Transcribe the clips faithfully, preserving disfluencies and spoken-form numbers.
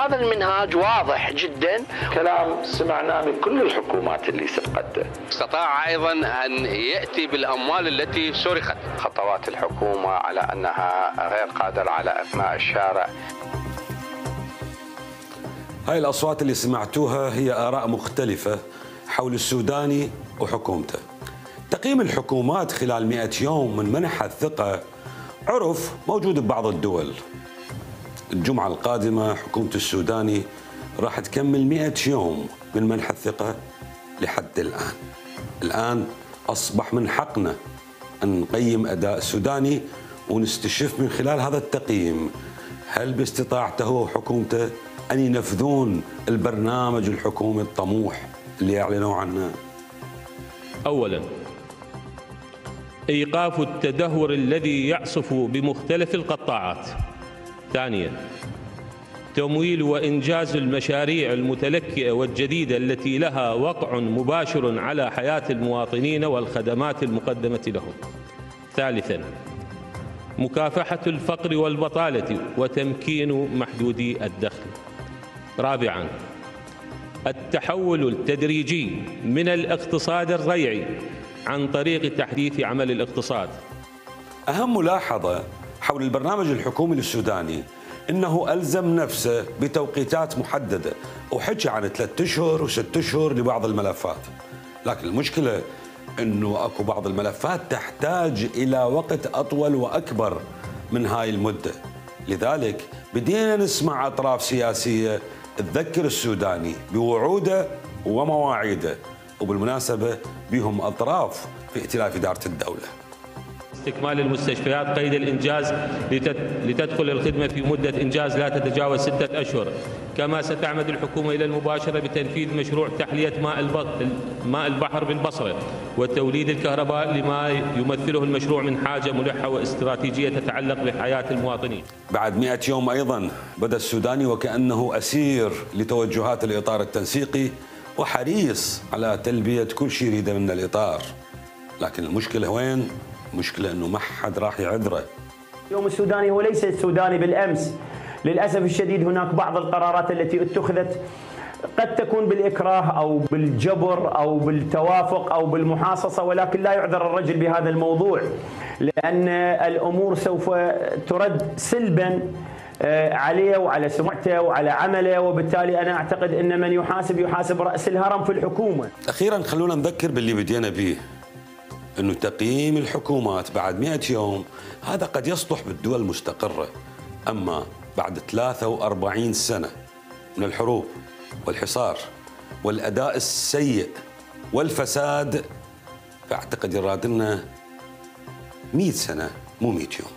هذا المنهاج واضح جدا، كلام سمعناه من كل الحكومات اللي سبقته. استطاع أيضا أن يأتي بالأموال التي سرقت. خطوات الحكومة على أنها غير قادرة على إثناء الشارع. هاي الأصوات اللي سمعتوها هي آراء مختلفة حول السوداني وحكومته. تقييم الحكومات خلال مئة يوم من منح الثقة عرف موجود ببعض الدول. الجمعة القادمة حكومة السوداني راح تكمل مئة يوم من منح الثقة لحد الآن. الآن أصبح من حقنا أن نقيم أداء السوداني ونستشف من خلال هذا التقييم هل باستطاعته هو وحكومته أن ينفذون البرنامج الحكومي الطموح اللي أعلنوا عنه. أولاً، إيقاف التدهور الذي يعصف بمختلف القطاعات. ثانياً، تمويل وإنجاز المشاريع المتلكئة والجديدة التي لها وقع مباشر على حياة المواطنين والخدمات المقدمة لهم. ثالثاً، مكافحة الفقر والبطالة وتمكين محدودي الدخل. رابعاً، التحول التدريجي من الاقتصاد الريعي عن طريق تحديث عمل الاقتصاد. أهم ملاحظة حول البرنامج الحكومي للسوداني إنه ألزم نفسه بتوقيتات محددة وحكي عن ثلاثة أشهر وست أشهر لبعض الملفات، لكن المشكلة إنه أكو بعض الملفات تحتاج إلى وقت أطول وأكبر من هاي المدة. لذلك بدينا نسمع أطراف سياسية تذكر السوداني بوعوده ومواعيده، وبالمناسبة بهم أطراف في ائتلاف إدارة الدولة. استكمال المستشفيات قيد الإنجاز لتدخل الخدمة في مدة إنجاز لا تتجاوز ستة أشهر. كما ستعمد الحكومة إلى المباشرة بتنفيذ مشروع تحلية ماء ماء البحر بالبصرة وتوليد الكهرباء لما يمثله المشروع من حاجة ملحة واستراتيجية تتعلق بحياة المواطنين. بعد مئة يوم أيضا بدأ السوداني وكأنه أسير لتوجهات الإطار التنسيقي وحريص على تلبية كل شيء يريده من الإطار، لكن المشكلة وين؟ المشكلة أنه ما حد راح يعذره. اليوم السوداني هو ليس السوداني بالأمس. للأسف الشديد هناك بعض القرارات التي اتخذت قد تكون بالإكراه أو بالجبر أو بالتوافق أو بالمحاصصة، ولكن لا يعذر الرجل بهذا الموضوع، لأن الأمور سوف ترد سلبا عليه وعلى سمعته وعلى عمله، وبالتالي أنا أعتقد أن من يحاسب يحاسب رأس الهرم في الحكومة. أخيرا خلونا نذكر باللي بدينا به، أنه تقييم الحكومات بعد مئة يوم هذا قد يصلح بالدول المستقرة، أما بعد ثلاثة وأربعين سنة من الحروب والحصار والأداء السيء والفساد فأعتقد يراد لنا مئة سنة مو مئة يوم.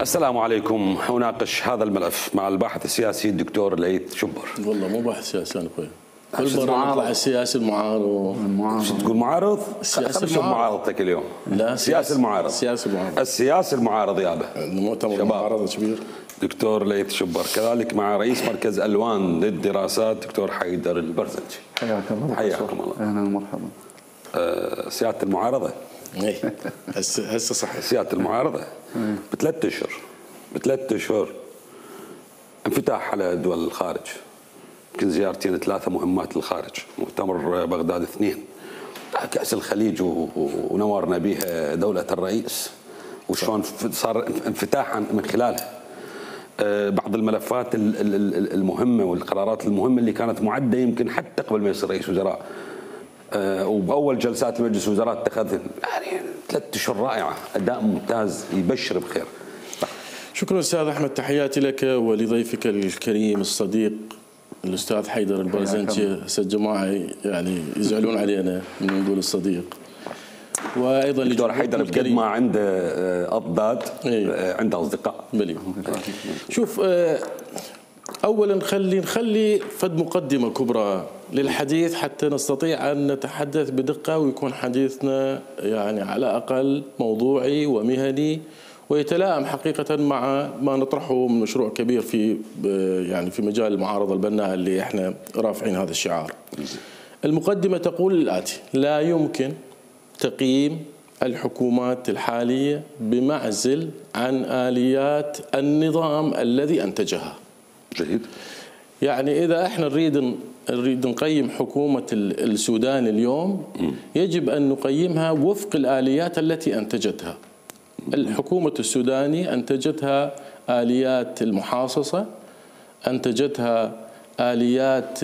السلام عليكم. أناقش هذا الملف مع الباحث السياسي الدكتور ليث شبر. والله مو باحث سياسي أنا أخوي. كل مرة نطلع السياسي المعارض. شو تقول معارض؟ السياسي المعارض. معارضتك اليوم. لا السياسي المعارض. السياسي المعارض. السياسي المعارض يابا. المؤتمر المعارضة كبير. دكتور ليث شبر، كذلك مع رئيس مركز ألوان للدراسات دكتور حيدر البرزنجي. حياك الله. حياكم الله. أهلا ومرحبا. أه سيادة المعارضة. اي هسه هسه صحيح. سيادة المعارضة بثلاث اشهر بثلاث اشهر انفتاح على دول الخارج، يمكن زيارتين ثلاثة مهمات للخارج، مؤتمر بغداد اثنين، كأس الخليج ونورنا بها دولة الرئيس وشلون صار انفتاحا من خلالها. بعض الملفات المهمة والقرارات المهمة اللي كانت معدة يمكن حتى قبل ما يصير رئيس وزراء، وبأول جلسات مجلس الوزراء اتخذ، يعني ثلاث اشهر رائعة، أداء ممتاز يبشر بخير. شكرا أستاذ أحمد، تحياتي لك ولضيفك الكريم الصديق الأستاذ حيدر البرزنجي. هسه الجماعة يعني يزعلون علينا من نقول الصديق. وأيضا الدكتور حيدر بقد ما عنده أضداد عنده أصدقاء. بلي. شوف، أولا خلي نخلي فد مقدمة كبرى للحديث حتى نستطيع أن نتحدث بدقة ويكون حديثنا يعني على أقل موضوعي ومهني ويتلائم حقيقة مع ما نطرحه من مشروع كبير في يعني في مجال المعارضة البناءة اللي احنا رافعين هذا الشعار. المقدمة تقول الآتي: لا يمكن تقييم الحكومات الحالية بمعزل عن آليات النظام الذي أنتجها. جيد. يعني إذا احنا نريد نريد نقيم حكومة السودان اليوم يجب أن نقيمها وفق الآليات التي أنتجتها. الحكومة السودانية أنتجتها آليات المحاصصة، أنتجتها آليات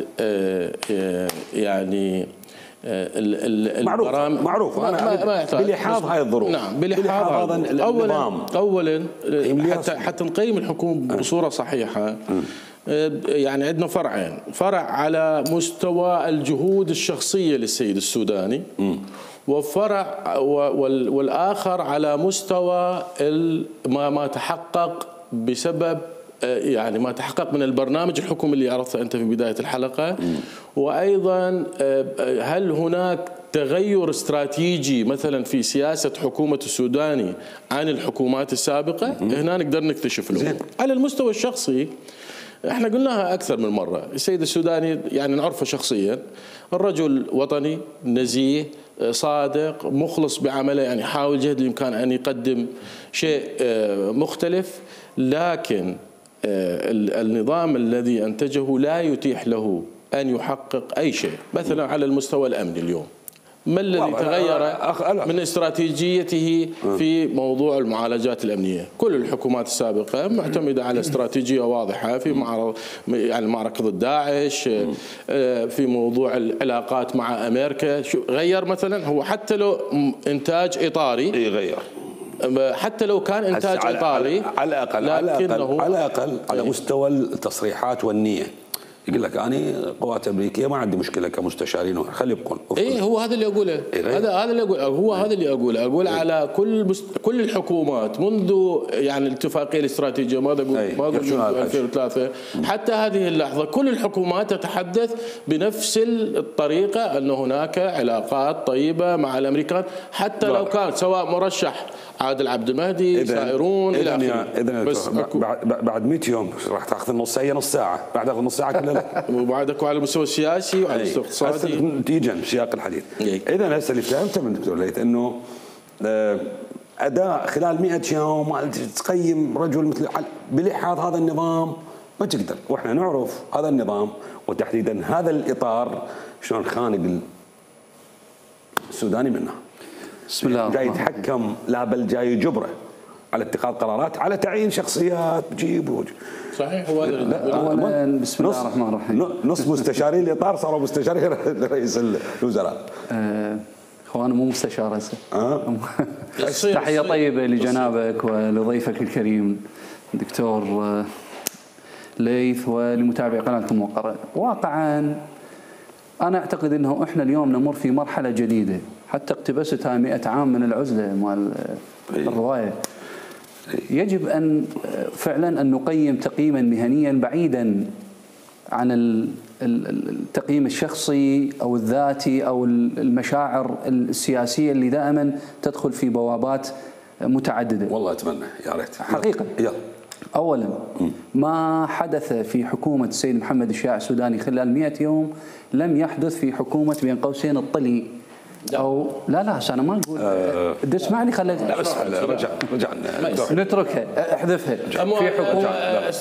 يعني معروف معروف أنا ما بلحاظ هاي الظروف. نعم بلحاظ هذا النظام. أولا حتى حتى نقيم الحكومة بصورة صحيحة يعني عندنا فرعين: فرع على مستوى الجهود الشخصية للسيد السوداني، وفرع والآخر على مستوى ما ما تحقق بسبب يعني ما تحقق من البرنامج الحكومي اللي عرضته أنت في بداية الحلقة. وأيضا هل هناك تغير استراتيجي مثلا في سياسة حكومة السوداني عن الحكومات السابقة؟ هنا نقدر نكتشف له. على المستوى الشخصي احنا قلناها اكثر من مره، السيد السوداني يعني نعرفه شخصيا، الرجل وطني نزيه صادق مخلص بعمله، يعني حاول جهد الامكان ان يقدم شيء مختلف، لكن النظام الذي انتجه لا يتيح له ان يحقق اي شيء. مثلا على المستوى الامني اليوم ما الذي تغير من استراتيجيته في موضوع المعالجات الأمنية؟ كل الحكومات السابقة معتمدة على استراتيجية واضحة في معرض يعني معركة ضد داعش، في موضوع العلاقات مع أمريكا. غير مثلا هو حتى لو إنتاج إطاري غير، حتى لو كان إنتاج على إطاري على الأقل على الأقل على الأقل على مستوى التصريحات والنية يقول لك أنا قوات أمريكية ما عندي مشكلة كمستشارين، خلي يبقون. إيه هو هذا اللي أقوله. إيه هذا هذا اللي أقول هو هذا اللي أقوله أقول إيه. على كل مست... كل الحكومات منذ يعني الاتفاقية الاستراتيجية ما أقول إيه. ما أقول من ألفين وثلاثة حتى هذه اللحظة كل الحكومات تتحدث بنفس الطريقة أن هناك علاقات طيبة مع الأمريكان، حتى لو كان سواء مرشح عادل عبد المهدي سائرون إلى آخره. إذن بس بعد بعد مئة يوم راح تاخذ نص هي نص ساعة، بعد تاخذ نص ساعة كلها وبعدك على المستوى السياسي وعلى المستوى الاقتصادي نتيجة سياق الحديث. إذا هسه اللي فهمته من الدكتور ليث انه اداء خلال مئة يوم تقيم رجل مثل بلحاظ هذا النظام ما تقدر، واحنا نعرف هذا النظام وتحديدا هذا الاطار شلون خانق السوداني منه. بسم الله جاي يتحكم لا بل جاي يجبره على اتخاذ قرارات، على تعيين شخصيات بجيب وجه. صحيح. هو اولا بسم الله الرحمن الرحيم. نص مستشارين الاطار صاروا مستشارين رئيس الوزراء. آه هو انا مو مستشار هسه. أه؟ تحيه طيبه لجنابك ولضيفك الكريم دكتور ليث ولمتابعي قناتكم موقرة. واقعا انا اعتقد انه احنا اليوم نمر في مرحله جديده، حتى اقتبستها مئة عام من العزله مال الروايه. يجب ان فعلا ان نقيم تقييما مهنيا بعيدا عن التقييم الشخصي او الذاتي او المشاعر السياسيه اللي دائما تدخل في بوابات متعدده. والله اتمنى يا ريت حقيقه. يلا. اولا ما حدث في حكومه السيد محمد الشياع السوداني خلال مئة يوم لم يحدث في حكومه بين قوسين الطلي او لا لا انا ما اقول أه اسمعني خليك لا بس رجع رجع نتركها احذفها في حكومه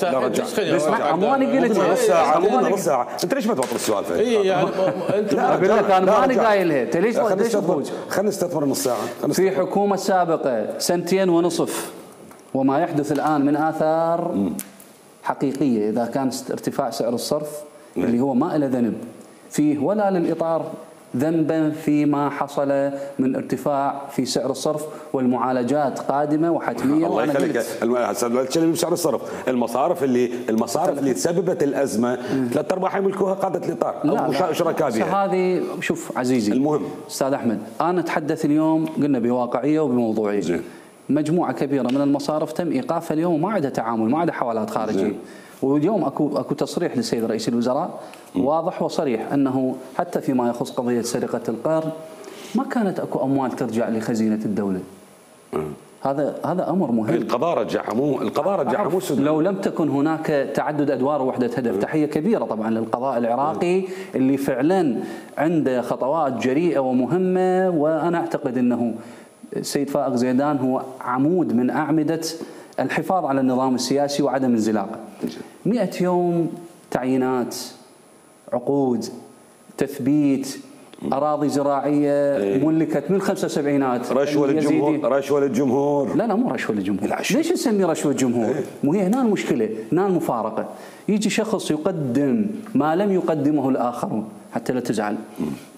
لا رجع اسمع اماني قلت نص ساعه نص ساعه انت ليش ما توطي السؤال فيه؟ اي يعني انت اقول لك انا ماني قايلها انت ليش ليش تفوز؟ خلينا نستثمر نص ساعه. في حكومه سابقه سنتين ونصف وما يحدث الان من اثار حقيقيه، اذا كان ارتفاع سعر الصرف اللي هو ما له ذنب فيه ولا للاطار ذنبا فيما حصل من ارتفاع في سعر الصرف، والمعالجات قادمه وحتميه. الله يخليك لا تتكلم بسعر الصرف، المصارف اللي المصارف اللي تسببت الازمه ثلاث ارباع يملكوها قاده الاطار او شركاء بها. هذه شوف عزيزي المهم استاذ احمد، انا اتحدث اليوم قلنا بواقعيه وبموضوعيه. زين. مجموعه كبيره من المصارف تم ايقافها اليوم وما عندها تعامل، ما عندها حوالات خارجيه. زين. واليوم اكو اكو تصريح للسيد رئيس الوزراء واضح وصريح انه حتى فيما يخص قضيه سرقه القرن ما كانت اكو اموال ترجع لخزينه الدوله. هذا هذا امر مهم. القضاء رجعها مو القضاء رجعها مو السودان. لو لم تكن هناك تعدد ادوار ووحده هدف، تحيه كبيره طبعا للقضاء العراقي اللي فعلا عنده خطوات جريئه ومهمه، وانا اعتقد انه السيد فائق زيدان هو عمود من اعمده الحفاظ على النظام السياسي وعدم انزلاقه. مئة يوم تعيينات، عقود، تثبيت، اراضي زراعيه ملكت من الخمسة وسبعينات، رشوه للجمهور، رشوه للجمهور. لا لا مو رشوه للجمهور، ليش نسميه رشوه جمهور؟ مو هي هنا المشكله، هنا المفارقه. يجي شخص يقدم ما لم يقدمه الاخرون، حتى لا تزعل،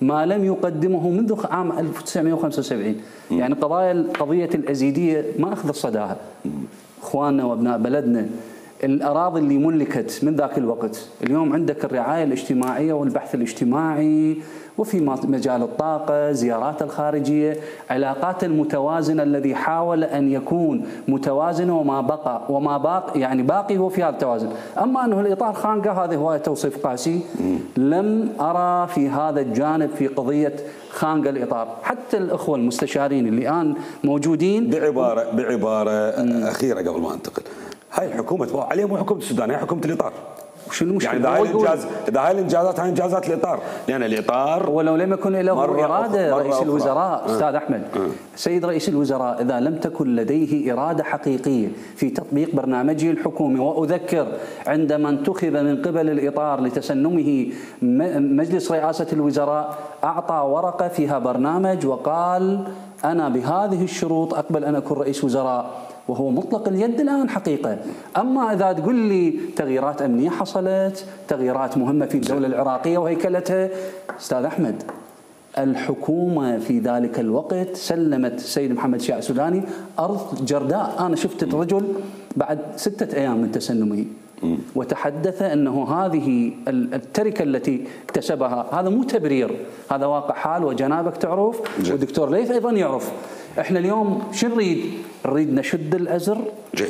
ما لم يقدمه منذ عام ألف وتسعمئة وخمسة وسبعين، يعني قضايا قضيه الازيديه ما اخذ صداها. اخواننا وابناء بلدنا، الأراضي اللي ملكت من ذاك الوقت، اليوم عندك الرعاية الاجتماعية والبحث الاجتماعي، وفي مجال الطاقة، زيارات الخارجية، علاقات المتوازنة الذي حاول أن يكون متوازن وما بقى وما باقي يعني باقي هو في هذا التوازن. أما أنه الإطار خانقة، هذا هو توصيف قاسي. لم أرى في هذا الجانب في قضية خانقة الإطار. حتى الأخوة المستشارين اللي الآن موجودين، بعبارة بعبارة أخيرة قبل ما أنتقل، هاي الحكومة عليها مو حكومة السودان، هي حكومة الإطار. وشو المشكلة؟ يعني إذا هاي الإنجاز إذا هاي الإنجازات هاي إنجازات الإطار، لأن يعني الإطار ولو لم يكن له إرادة رئيس أخرى. الوزراء أه. أستاذ أحمد، أه. سيد رئيس الوزراء إذا لم تكن لديه إرادة حقيقية في تطبيق برنامجه الحكومي، وأذكر عندما انتخب من قبل الإطار لتسنمه مجلس رئاسة الوزراء، أعطى ورقة فيها برنامج وقال أنا بهذه الشروط أقبل أن أكون رئيس وزراء، وهو مطلق اليد الآن حقيقة. أما إذا تقول لي تغييرات أمنية حصلت، تغييرات مهمة في الدولة العراقية وهيكلتها، أستاذ أحمد، الحكومة في ذلك الوقت سلمت السيد محمد شيع السوداني أرض جرداء. أنا شفت الرجل بعد ستة أيام من تسنمه وتحدث أنه هذه التركة التي اكتسبها، هذا مو تبرير، هذا واقع حال وجنابك تعرف والدكتور ليث أيضا يعرف. احنا اليوم شو نريد؟ نريد نشد الأزر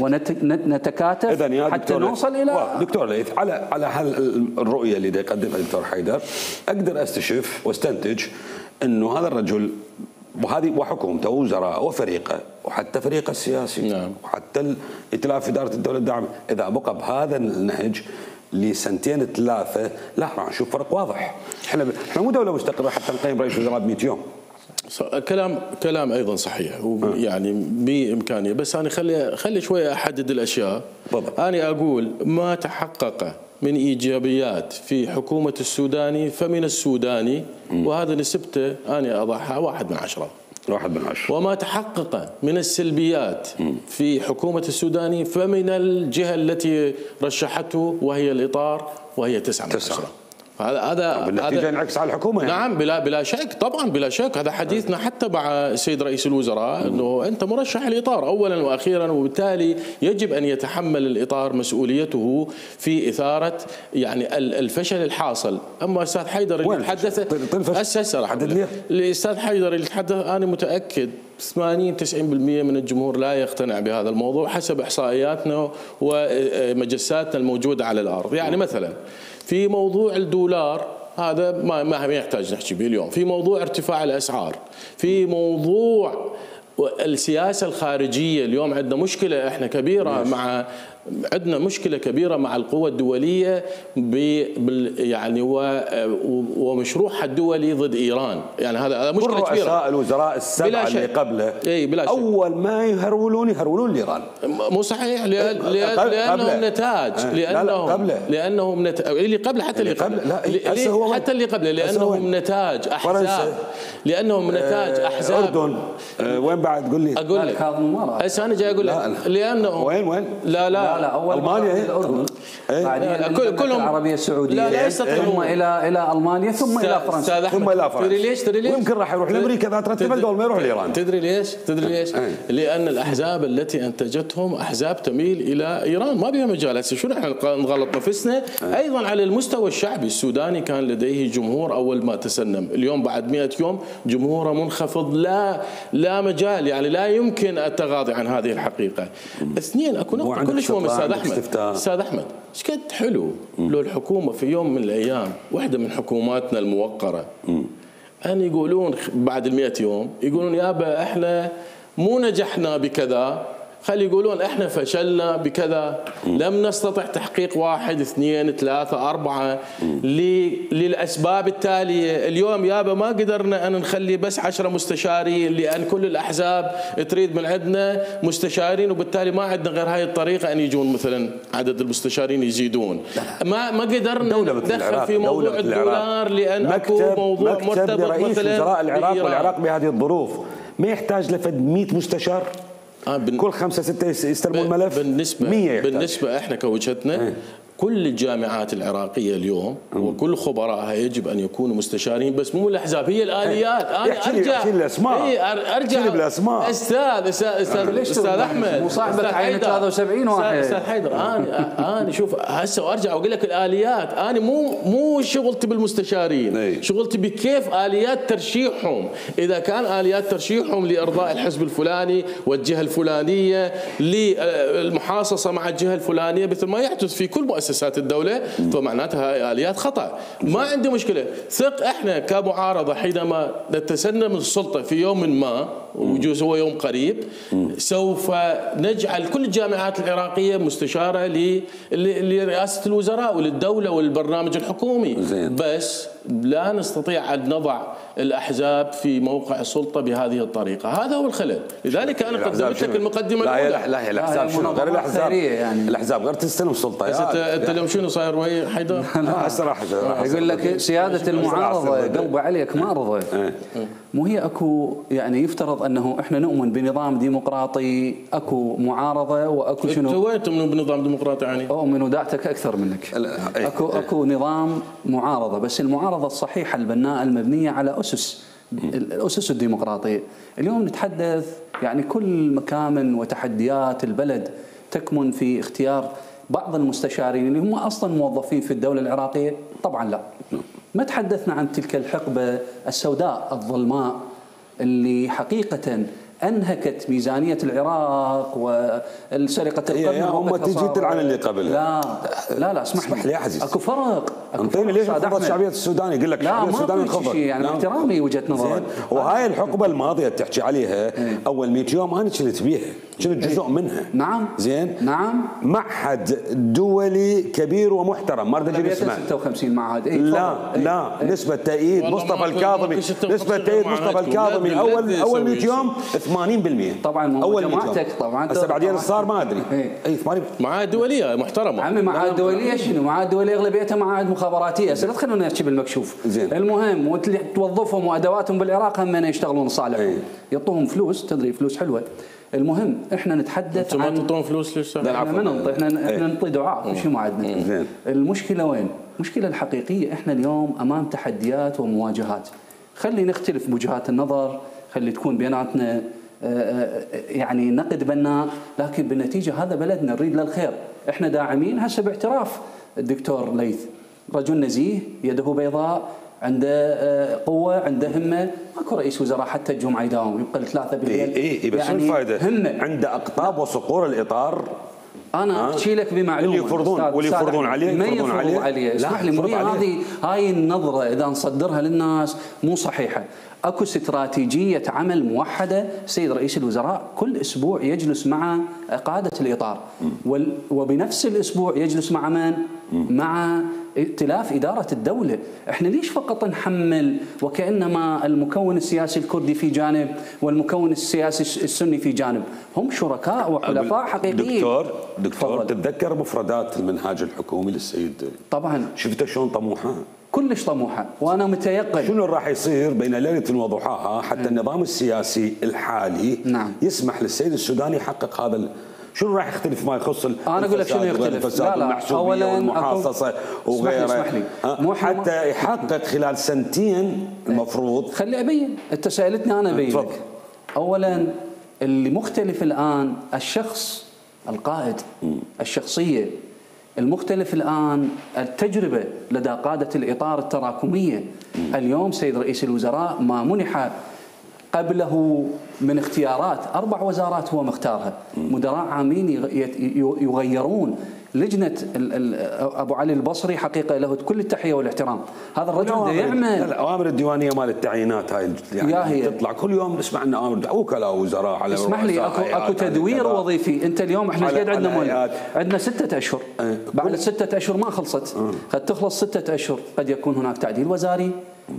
ونتكاتف حتى نوصل إلى دكتور ليث. على على هالرؤية اللي يقدمها الدكتور حيدر، أقدر أستشف واستنتج أنه هذا الرجل وهذه وحكومته ووزراء وفريقه وحتى فريقه السياسي، نعم، وحتى ائتلاف إدارة الدولة الداعمة، إذا بقى بهذا النهج لسنتين ثلاثة، لا راح نشوف فرق واضح. احنا احنا مو دولة مستقرة حتى نقيم رئيس وزراء بمئة يوم. كلام كلام ايضا صحيح، يعني بامكانيه، بس انا خلي خلي شويه احدد الاشياء. بالضبط. انا اقول ما تحقق من ايجابيات في حكومه السوداني فمن السوداني، وهذا نسبته انا اضعها واحد من عشره. واحد من عشرة. وما تحقق من السلبيات في حكومة السوداني فمن الجهة التي رشحته وهي الإطار، وهي تسعة من عشرة. هذا هذا بالنتيجة ينعكس على الحكومة يعني. نعم بلا بلا شك، طبعا بلا شك. هذا حديثنا حتى مع السيد رئيس الوزراء، انه انت مرشح الإطار اولا واخيرا، وبالتالي يجب ان يتحمل الإطار مسؤوليته في إثارة يعني الفشل الحاصل. اما استاذ حيدر اللي تحدث اساسا الاستاذ حيدر اللي تحدث، انا متاكد ثمانين تسعين بالمئة من الجمهور لا يقتنع بهذا الموضوع حسب احصائياتنا ومجساتنا الموجودة على الارض. يعني مثلا في موضوع الدولار، هذا ما ما يحتاج نحكي به اليوم، في موضوع ارتفاع الأسعار، في موضوع السياسة الخارجية. اليوم عندنا مشكلة احنا كبيرة مع عندنا مشكلة كبيرة مع القوى الدولية بال يعني ومشروعها الدولي ضد إيران. يعني هذا هذا مشكلة كبيرة. رؤساء الوزراء السبعة اللي قبله اي بلا شك أول ما يهرولون يهرولون لإيران. مو صحيح، لأن لأنهم نتاج، لأنهم لأنهم نتاج اللي قبله، حتى اللي قبله حتى اللي قبله لأنهم نتاج أحزاب، لأنهم نتاج أحزاب. أردن وين بعد؟ قول لي. أقول لك هسه أنا جاي أقول لك لأنه وين وين لا لا لا أول ألمانيا هي الأردن، بعدين كلهم العربية السعودية، لا ثم إلى إلى ألمانيا، ثم إلى فرنسا، ثم إلى فرنسا. تدري ليش؟ تدري ليش؟ ويمكن راح يروح لأمريكا إذا ترتبت قبل ما يروح لإيران. تدري ليش؟ تدري ليش؟ لأن الأحزاب التي أنتجتهم أحزاب تميل إلى إيران، ما بها مجال. هسه شو نحن نغلط نفسنا؟ أيضا على المستوى الشعبي السوداني كان لديه جمهور أول ما تسنم، اليوم بعد مئة يوم جمهوره منخفض، لا لا مجال، يعني لا يمكن التغاضي عن هذه الحقيقة. اثنين، أكو نقطة كلش مهمة استاذ احمد، استاذ احمد ايش قد حلو لو الحكومه في يوم من الايام، واحده من حكوماتنا الموقره، ان يقولون بعد المئة يوم يقولون يابا احنا مو نجحنا بكذا، خلي يقولون احنا فشلنا بكذا، لم نستطع تحقيق واحد اثنين ثلاثة أربعة للأسباب التالية. اليوم يابا ما قدرنا أن نخلي بس عشرة مستشارين لأن كل الأحزاب تريد من عندنا مستشارين، وبالتالي ما عندنا غير هاي الطريقة أن يجون مثلا عدد المستشارين يزيدون. ما ما قدرنا ندخل في موضوع الدولار لأن أكو موضوع مرتبط رئيس مثلا وزراء العراق والعراق بهذه الظروف ما يحتاج لفد مئة مستشار؟ آه بن... كل خمسة ستة يستلمون الملف. بالنسبة مية بالنسبة احنا كوجهتنا ايه؟ كل الجامعات العراقية اليوم وكل خبرائها يجب أن يكونوا مستشارين، بس مو الأحزاب، هي الآليات. أنا أرجع الأسماء. إيه أرجع بالأسماء. أستاذ أستاذ أستاذ, أستاذ أحمد مصاحبك عين ثلاثة وسبعين واحد. أستاذ حيدر أنا أنا شوف هسه وأرجع وأقول لك الآليات. أنا مو مو شغلتي بالمستشارين، ايه؟ شغلتي بكيف آليات ترشيحهم. إذا كان آليات ترشيحهم لإرضاء الحزب الفلاني والجهة الفلانية للمحاصصة مع الجهة الفلانية مثل ما يحدث في كل مؤسسة مؤسسات الدولة، فمعناتها هاي آليات خطأ. ما عندي مشكلة. ثق احنا كمعارضة حينما نتسنم السلطة في يوم ما، ويجوز هو يوم قريب، سوف نجعل كل الجامعات العراقية مستشارة لرئاسة الوزراء وللدولة والبرنامج الحكومي. بس لا نستطيع أن نضع الأحزاب في موقع السلطة بهذه الطريقة. هذا هو الخلل. لذلك أنا قدمت لك المقدمة الأولى. لا لا الأحزاب شنو غير الأحزاب؟ يعني الأحزاب غير تستلم السلطة. أنت اليوم شنو صاير وهي حيدر؟ لا الصراحة يقول لك سيادة المعارضة قلبه عليك معارضة. مو هي اكو يعني يفترض انه احنا نؤمن بنظام ديمقراطي، اكو معارضة واكو شنو؟ انتوا وين تؤمنون بنظام ديمقراطي يعني؟ اؤمن ودعتك اكثر منك. اكو اكو نظام معارضة، بس المعارضة الصحيحة البناءة المبنية على أسس الأسس الديمقراطية. اليوم نتحدث يعني كل مكامن وتحديات البلد تكمن في اختيار بعض المستشارين اللي هم أصلا موظفين في الدولة العراقية. طبعا لا، ما تحدثنا عن تلك الحقبة السوداء الظلماء اللي حقيقة أنهكت ميزانية العراق والسرقة القرن. هم تجي تلعن اللي قبل. لا لا لا اسمح, اسمح لي يا عزيز. اكو فرق. انطيني ليش انخفضت شعبية السودان؟ يقول لك لا السودان انخفض. يعني مع احترامي وجهة نظرك. وهاي الحقبة الماضية تحكي عليها ايه؟ اول مئة يوم انا كنت بيها، كنت جزء ايه؟ منها. نعم زين. نعم. معهد دولي كبير ومحترم، ما اريد اسمه. ستة وخمسين معهد. ايه لا ايه؟ لا ايه؟ نسبة تأييد مصطفى الكاظمي، نسبة تأييد مصطفى الكاظمي اول اول مئة يوم ثمانين بالمئة. طبعا اول جماعتك طبعا هسه بعدين صار ما ادري. ايه؟ اي ثمانين معاهد دولية محترمة. عمي معاهد دولية شنو؟ معاهد دولية اغلبيتها معاهد مخابراتية. هسه لا تخلونا نحكي بالمكشوف. زين. المهم وتوظفهم وادواتهم بالعراق هم يشتغلون لصالحهم. ايه؟ يعطوهم فلوس، تدري فلوس حلوة. المهم احنا نتحدث عن عن ما تعطون فلوس ليش؟ احنا ما ننطي، احنا احنا نعطي دعاء مش ما عندنا. المشكلة وين؟ المشكلة الحقيقية احنا اليوم امام تحديات ومواجهات. خلي نختلف بوجهات النظر، خلي تكون بيناتنا يعني نقد بناء، لكن بالنتيجة هذا بلدنا نريد له الخير. احنا داعمين هسه باعتراف الدكتور ليث، رجل نزيه يده بيضاء، عنده قوة، عنده همة. ماكو رئيس وزراء حتى الجمعة يداوم يبقى ثلاثة بالليل. اي اي بس شو الفائدة؟ عنده أقطاب وصقور الإطار. انا احكي لك بمعلومه اللي يفرضون واللي يفرضون عليه ما يفرضون عليه, عليه. اسمح لي، مو هذه هاي النظره اذا نصدرها للناس مو صحيحه. اكو استراتيجيه عمل موحده. سيد رئيس الوزراء كل اسبوع يجلس مع قاده الاطار، وبنفس الاسبوع يجلس مع من؟ مع ائتلاف إدارة الدولة. احنا ليش فقط نحمل وكأنما المكون السياسي الكردي في جانب والمكون السياسي السني في جانب؟ هم شركاء وحلفاء حقيقيين. دكتور دكتور تتذكر مفردات المنهاج الحكومي للسيد؟ طبعا. شفت شلون طموحه؟ كلش طموحه، وانا متيقن. شنو راح يصير بين ليله وضحاها حتى اه. النظام السياسي الحالي نعم. يسمح للسيد السوداني يحقق هذا ال... شنو راح يختلف ما يخص انا اقول لك شنو يختلف؟ لا لا اولا والمحاصصه وغيرها. اسمح لي اسمح لي. حتى يحقق خلال سنتين المفروض. خلي ابين، انت سالتني انا ابين لك. اولا اللي مختلف الان الشخص القائد، الشخصيه. المختلف الآن التجربة لدى قادة الإطار التراكمية. اليوم سيد رئيس الوزراء ما منح قبله من اختيارات، أربع وزارات هو مختارها، مدراء عامين يغيرون. لجنه ابو علي البصري حقيقه له كل التحيه والاحترام، هذا الرجل بده يعمل الاوامر الديوانيه مال التعيينات هاي يعني تطلع كل يوم نسمع لنا اوامر وكلاء وزراء على اسمح لي اكو اكو تدوير وظيفي. انت اليوم احنا قاعد عندنا مول عندنا ستة اشهر، بعد الستة اشهر ما خلصت، قد تخلص ستة اشهر، قد يكون هناك تعديل وزاري،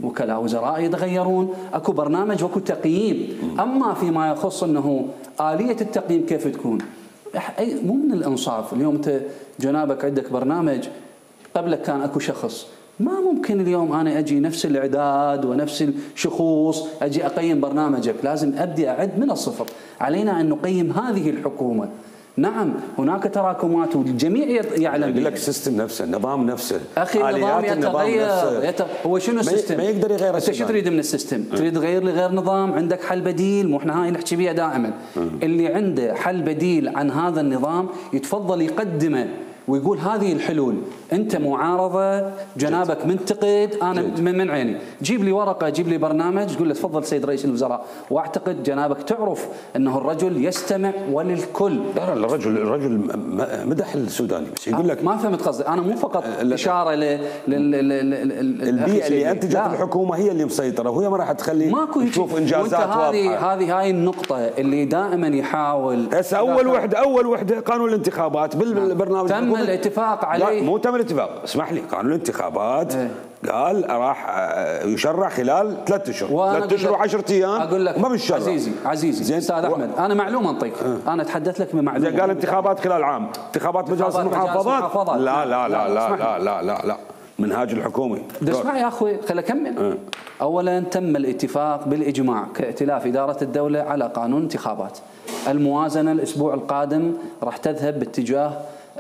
وكلاء وزراء يتغيرون، اكو برنامج واكو تقييم. اما فيما يخص انه آلية التقييم كيف تكون، مو من الانصاف. اليوم انت جنابك عندك برنامج، قبلك كان اكو شخص، ما ممكن اليوم انا اجي نفس الاعداد ونفس الشخوص اجي اقيم برنامجك، لازم ابدي اعد من الصفر. علينا ان نقيم هذه الحكومه. نعم هناك تراكمات والجميع يعلم. يقول لك السيستم نفسه، النظام نفسه، اخي النظام يتغير. يت... هو شنو السيستم؟ ما يقدر يغير. انت شو تريد من السيستم؟ اه. تريد تغير لي غير نظام؟ عندك حل بديل؟ مو احنا هاي نحكي بيها دائما. اه. اللي عنده حل بديل عن هذا النظام يتفضل يقدمه ويقول هذه الحلول. انت معارضه، جنابك منتقد، انا من عيني، جيب لي ورقه، جيب لي برنامج، تقول له تفضل سيد رئيس الوزراء. واعتقد جنابك تعرف انه الرجل يستمع وللكل. لا لا الرجل الرجل مدح السوداني، بس يقول لك ما فهمت قصدي، انا مو فقط اشاره ل البيئه اللي انتجت الحكومه هي اللي مسيطره، وهي ما راح تخلي تشوف انجازات واضحه. هذه هذه هاي النقطه اللي دائما يحاول. هسه اول وحده اول وحده قانون الانتخابات بالبرنامج تم الاتفاق عليه. مو تم الاتفاق، اسمح لي، قانون الانتخابات ايه. قال راح يشرع خلال ثلاث اشهر، ثلاث اشهر وعشرة ايام. اقول لك ما بالشرع. عزيزي عزيزي استاذ احمد، انا معلومه انطيك، اه. انا اتحدث لك بمعلومه. قال انتخابات خلال عام، انتخابات مجالس المحافظات. لا لا لا لا لا لا لا لا منهاج الحكومه. اسمع يا اخوي خليني اكمل. اه. اولا تم الاتفاق بالاجماع كائتلاف اداره الدوله على قانون انتخابات. الموازنه الاسبوع القادم راح تذهب باتجاه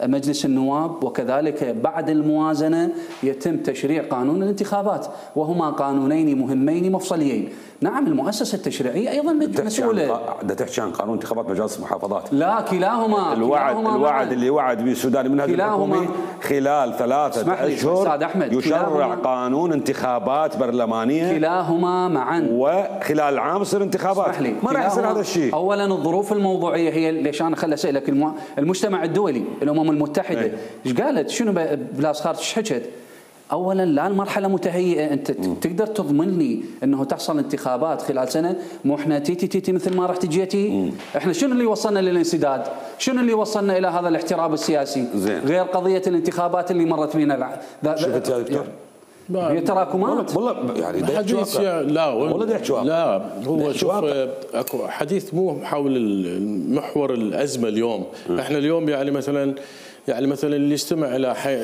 مجلس النواب، وكذلك بعد الموازنة يتم تشريع قانون الانتخابات، وهما قانونين مهمين مفصليين. نعم المؤسسة التشريعية أيضا مسؤولة. بدها تحكي عن قانون انتخابات مجالس المحافظات. لا كلاهما. الوعد كلاهما الوعد معا. اللي وعد به السوداني من هذه الحكومة خلال ثلاثة أشهر يشرع قانون انتخابات برلمانية. كلاهما معا. وخلال العام يصير انتخابات. ما راح يصير هذا الشيء. أولا الظروف الموضوعية هي ليش أنا خل أسألك، المجتمع الدولي الأمم المتحدة ايش قالت؟ شنو بلاس خارج ايش حكت؟ اولا لا المرحله متهيئه، انت م. تقدر تضمن لي انه تحصل انتخابات خلال سنه؟ مو احنا تيتي تيتي مثل ما رحت جيتي؟ احنا شنو اللي وصلنا للانسداد؟ شنو اللي وصلنا الى هذا الاحتراب السياسي؟ زين. غير قضيه الانتخابات اللي مرت بينا. شفت يا دكتور؟ هي تراكمات والله يعني حديث لا والله لا هو شوف اكو حديث مو حول المحور الازمه اليوم. م. احنا اليوم يعني مثلا يعني مثلا اللي يستمع الى حي...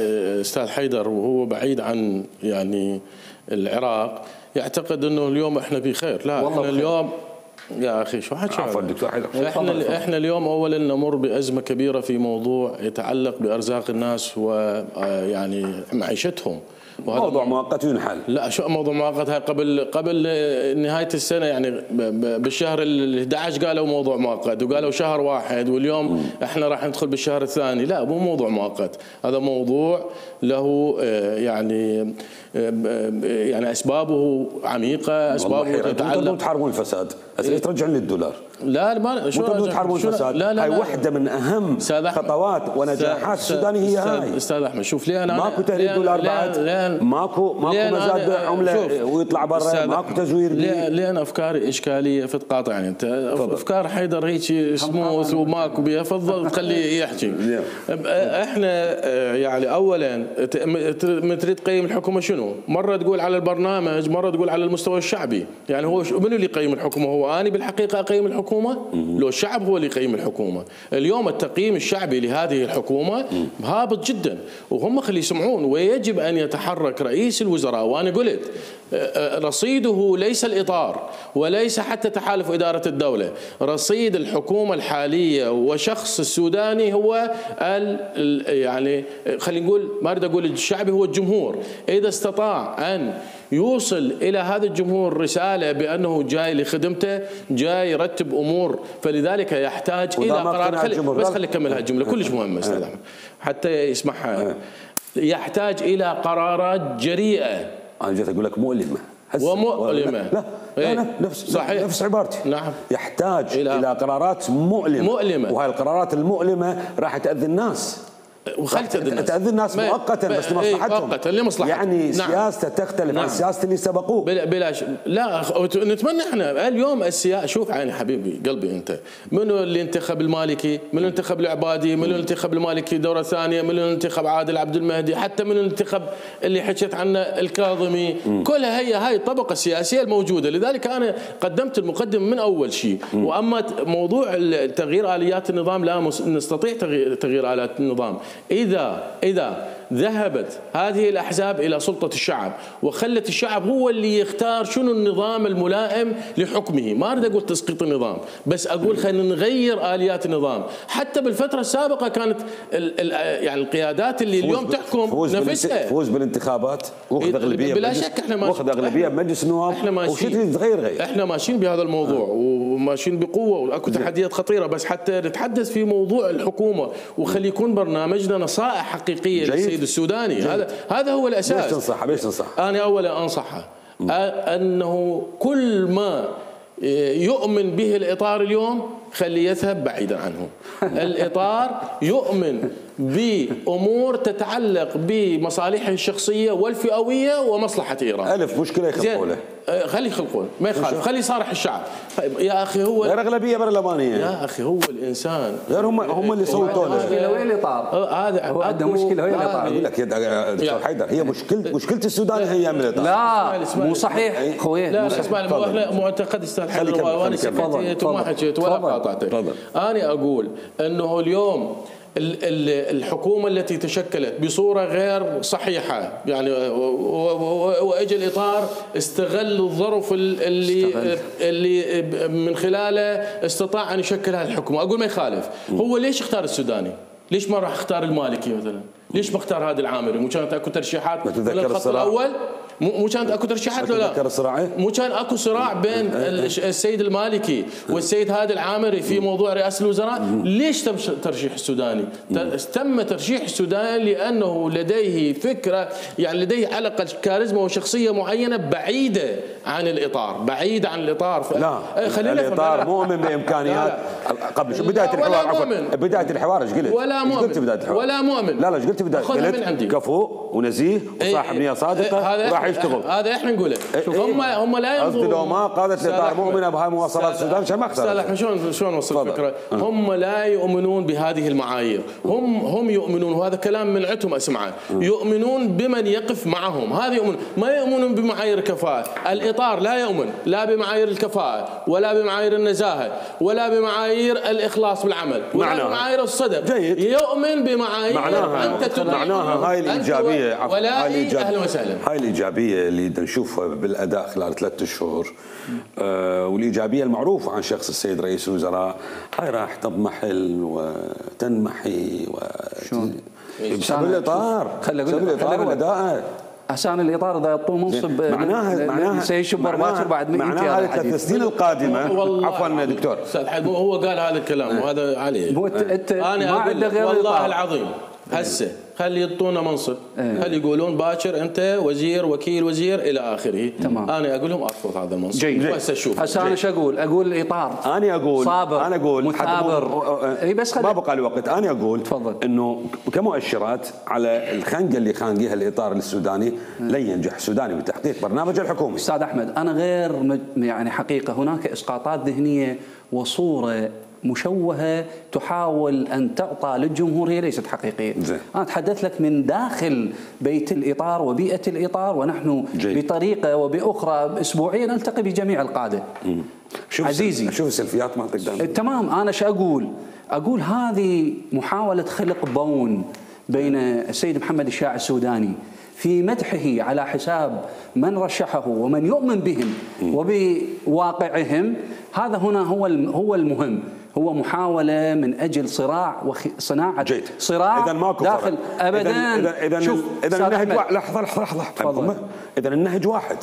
استاذ حيدر وهو بعيد عن يعني العراق يعتقد انه اليوم احنا بخير. لا احنا اليوم يا اخي شو حكي؟ عفوا دكتور حيدر. احنا احنا اليوم اولا نمر بازمه كبيره في موضوع يتعلق بارزاق الناس ويعني معيشتهم. موضوع مؤقت ينحل. لا شو موضوع مؤقت؟ هاي قبل قبل نهايه السنه يعني بالشهر ال أحد عشر قالوا موضوع مؤقت، وقالوا شهر واحد، واليوم م. احنا راح ندخل بالشهر الثاني. لا مو موضوع مؤقت، هذا موضوع له يعني يعني اسبابه عميقه، اسبابه تتعلق. تحاربون الفساد، ترجعون للدولار. لا ما شو تحاربون الفساد؟ لا لا هاي واحده من اهم خطوات ونجاحات السوداني هي هاي. استاذ احمد شوف ليه انا ماكو تهريب دولار بعد، ماكو ماكو مزاد عمله ويطلع برا، ماكو تزوير. لين افكاري اشكاليه فتقاطعني انت. افكار حيدر هيك سموث وماكو بيها، فضل خليه يحكي. احنا يعني اولا تريد تقيم الحكومه شنو؟ مره تقول على البرنامج، مره تقول على المستوى الشعبي. يعني هو منو اللي يقيم الحكومه؟ هو اني بالحقيقه اقيم الحكومه؟ لو الشعب هو اللي يقيم الحكومه. اليوم التقييم الشعبي لهذه الحكومه هابط جدا، وهم خلي يسمعون. ويجب ان يتحرك رئيس الوزراء، وانا قلت رصيده ليس الاطار وليس حتى تحالف اداره الدوله، رصيد الحكومه الحاليه وشخص السوداني هو يعني خلينا نقول، ما اريد اقول الشعبي، هو الجمهور. اذا استطاع ان يوصل الى هذا الجمهور رساله بانه جاي لخدمته، جاي يرتب امور، فلذلك يحتاج الى قرار. خلي بس خلي اكمل هالجمله كلش مهمه استاذ احمد حتى يسمعها. يحتاج الى قرارات جريئه. انا جيت اقول لك مؤلمه ومؤلمه. لا لا نفس صحيح. نفس عبارتي. نعم. يحتاج الى, إلى قرارات مؤلمه. مؤلمه، وهاي القرارات المؤلمه راح تاذي الناس. وخلت تأذي تأذي الناس مؤقتا بس لمصلحتهم. مؤقتا لمصلحتهم. يعني نعم. سياسته تختلف نعم. عن سياسة اللي سبقوه. بلا بلا ش... لا نتمنى احنا اليوم السياسة. شوف عيني حبيبي قلبي انت، منو اللي انتخب المالكي؟ منو اللي انتخب العبادي؟ منو اللي انتخب المالكي دورة ثانية؟ منو اللي انتخب عادل عبد المهدي؟ حتى منو اللي انتخب اللي حكيت عنه الكاظمي؟ م. كلها هي هاي الطبقة السياسية الموجودة. لذلك انا قدمت المقدمة من اول شيء. م. واما موضوع تغيير آليات النظام لا نستطيع تغيير آليات النظام اذا اذا ذهبت هذه الأحزاب إلى سلطة الشعب وخلت الشعب هو اللي يختار شنو النظام الملائم لحكمه. ما أريد أقول تسقيط النظام، بس أقول خلينا نغير آليات النظام. حتى بالفترة السابقة كانت ال ال يعني القيادات اللي اليوم تحكم فوز نفسها فوز بالانتخابات واخذ أغلبية بلا شك. احنا واخذ أغلبية بمجلس النواب. احنا ماشيين تغير غير احنا ماشيين بهذا الموضوع آه. وماشيين بقوة واكو تحديات خطيرة، بس حتى نتحدث في موضوع الحكومة وخلي يكون برنامجنا نصائح حقيقية للسيد السوداني. جيد. هذا هذا هو الاساس. ليش تنصحه؟ ليش تنصح؟ انا اولا انصحه انه كل ما يؤمن به الاطار اليوم خليه يذهب بعيدا عنه. الاطار يؤمن بامور تتعلق بمصالحه الشخصيه والفئويه ومصلحه ايران. الف مشكله يخلقوا له. خلي يخلقون ما يخالف، خلي يصارح الشعب. طيب يا اخي هو غير اغلبيه برلمانيه يا اخي هو الانسان غير هم هم اللي صوتوا له. مشكله وين الاطار؟ هذا هو عنده مشكله وين الاطار؟ اقول لك يا دكتور حيدر هي مشكله مشكله السودان هي من الاطار. لا مو صحيح خويا. لا اسمع لي معتقد استاذ حيدر وانا سكتت وما حكيت ولا قاطعتك. انا اقول انه اليوم الحكومة التي تشكلت بصورة غير صحيحة يعني واجى الإطار استغل الظرف اللي استغل. اللي من خلاله استطاع أن يشكل هذه الحكومة. أقول ما يخالف. هو ليش اختار السوداني؟ ليش ما راح اختار المالكي مثلا؟ ليش ما اختار هذا العامري؟ مو كانت اكو ترشيحات من الخط الاول؟ مو كانت اكو ترشيحات ولا لا؟ مو كان اكو صراع بين السيد المالكي والسيد هادي العامري في موضوع رئاسه الوزراء؟ ليش تم ترشيح السوداني؟ تم ترشيح السوداني لانه لديه فكره يعني لديه على الاقل كاريزما وشخصيه معينه بعيده عن الاطار، بعيده عن الاطار. لا خلينا الاطار مؤمن بامكانيات قبل بدايه الحوار. عفوا بدايه الحوار ايش قلت؟ ولا مؤمن ولا مؤمن. لا لا ايش قلت بدايه؟ قلت كفو ونزيه وصاحب نيه صادقه راح يشتغل. هذا احنا نقوله. شوف هم هم لا ينظرون. قصدي لو ما قادت الاطار مؤمنه بهاي مواصلات السودان عشان ما اختار. احنا شلون شلون نوصل الفكره؟ هم لا يؤمنون بهذه المعايير. هم هم يؤمنون وهذا كلام من عندهم اسمعه. يؤمنون بمن يقف معهم. هذا يؤمن ما يؤمنون بمعايير الكفاءه. الاطار لا يؤمن لا بمعايير الكفاءه ولا بمعايير النزاهه ولا بمعايير الاخلاص بالعمل ولا بمعايير الصدق. جيد. يؤمن بمعايير معناها انت معناها هاي الايجابيه. ولا اهلا وسهلا. هاي الايجابيه اللي نشوفها بالاداء خلال ثلاثة شهور آه والايجابيه المعروفه عن شخص السيد رئيس الوزراء هاي راح تضمحل وتنمحي و بسبب الاطار بسبب الاطار والاداء. عشان الاطار اذا يعطوه منصب معناها معناها سيشب باكر بعد مئة معناها هذه الثلاث سنين القادمه. عفوا دكتور استاذ حد هو قال هذا الكلام وهذا عليه. انا ما عنده غير والله العظيم هسه خلي يعطونا منصب. ايه. خلي يقولون باكر انت وزير وكيل وزير الى اخره. تمام. انا اقول لهم ارفض هذا المنصب. جيد. بس اشوف هسه انا ايش اقول؟ اقول الاطار انا اقول صابر انا اقول مثابر. اي بس ما بقى لي وقت. انا اقول تفضل انه كمؤشرات على الخنقه اللي خانقيها الاطار السوداني لن ينجح السوداني بتحقيق برنامج الحكومي. استاذ احمد انا غير يعني حقيقه هناك اسقاطات ذهنيه وصوره مشوهة تحاول أن تعطى للجمهور هي ليست حقيقية. زي. أنا أتحدث لك من داخل بيت الإطار وبيئة الإطار ونحن جي. بطريقة وبأخرى أسبوعيا نلتقي بجميع القادة. شوف عزيزي شوف السلفيات مالتك دائما. تمام. أنا شو أقول؟ أقول هذه محاولة خلق بون بين السيد محمد الشاع السوداني في مدحه على حساب من رشحه ومن يؤمن بهم وبواقعهم. هذا هنا هو هو المهم. هو محاولة من أجل صراع وصناعة صراع إذا ماكو داخل أبدا. إذا إذا شوف إذا النهج واحد. لحظة لحظة لحظة إذا النهج واحد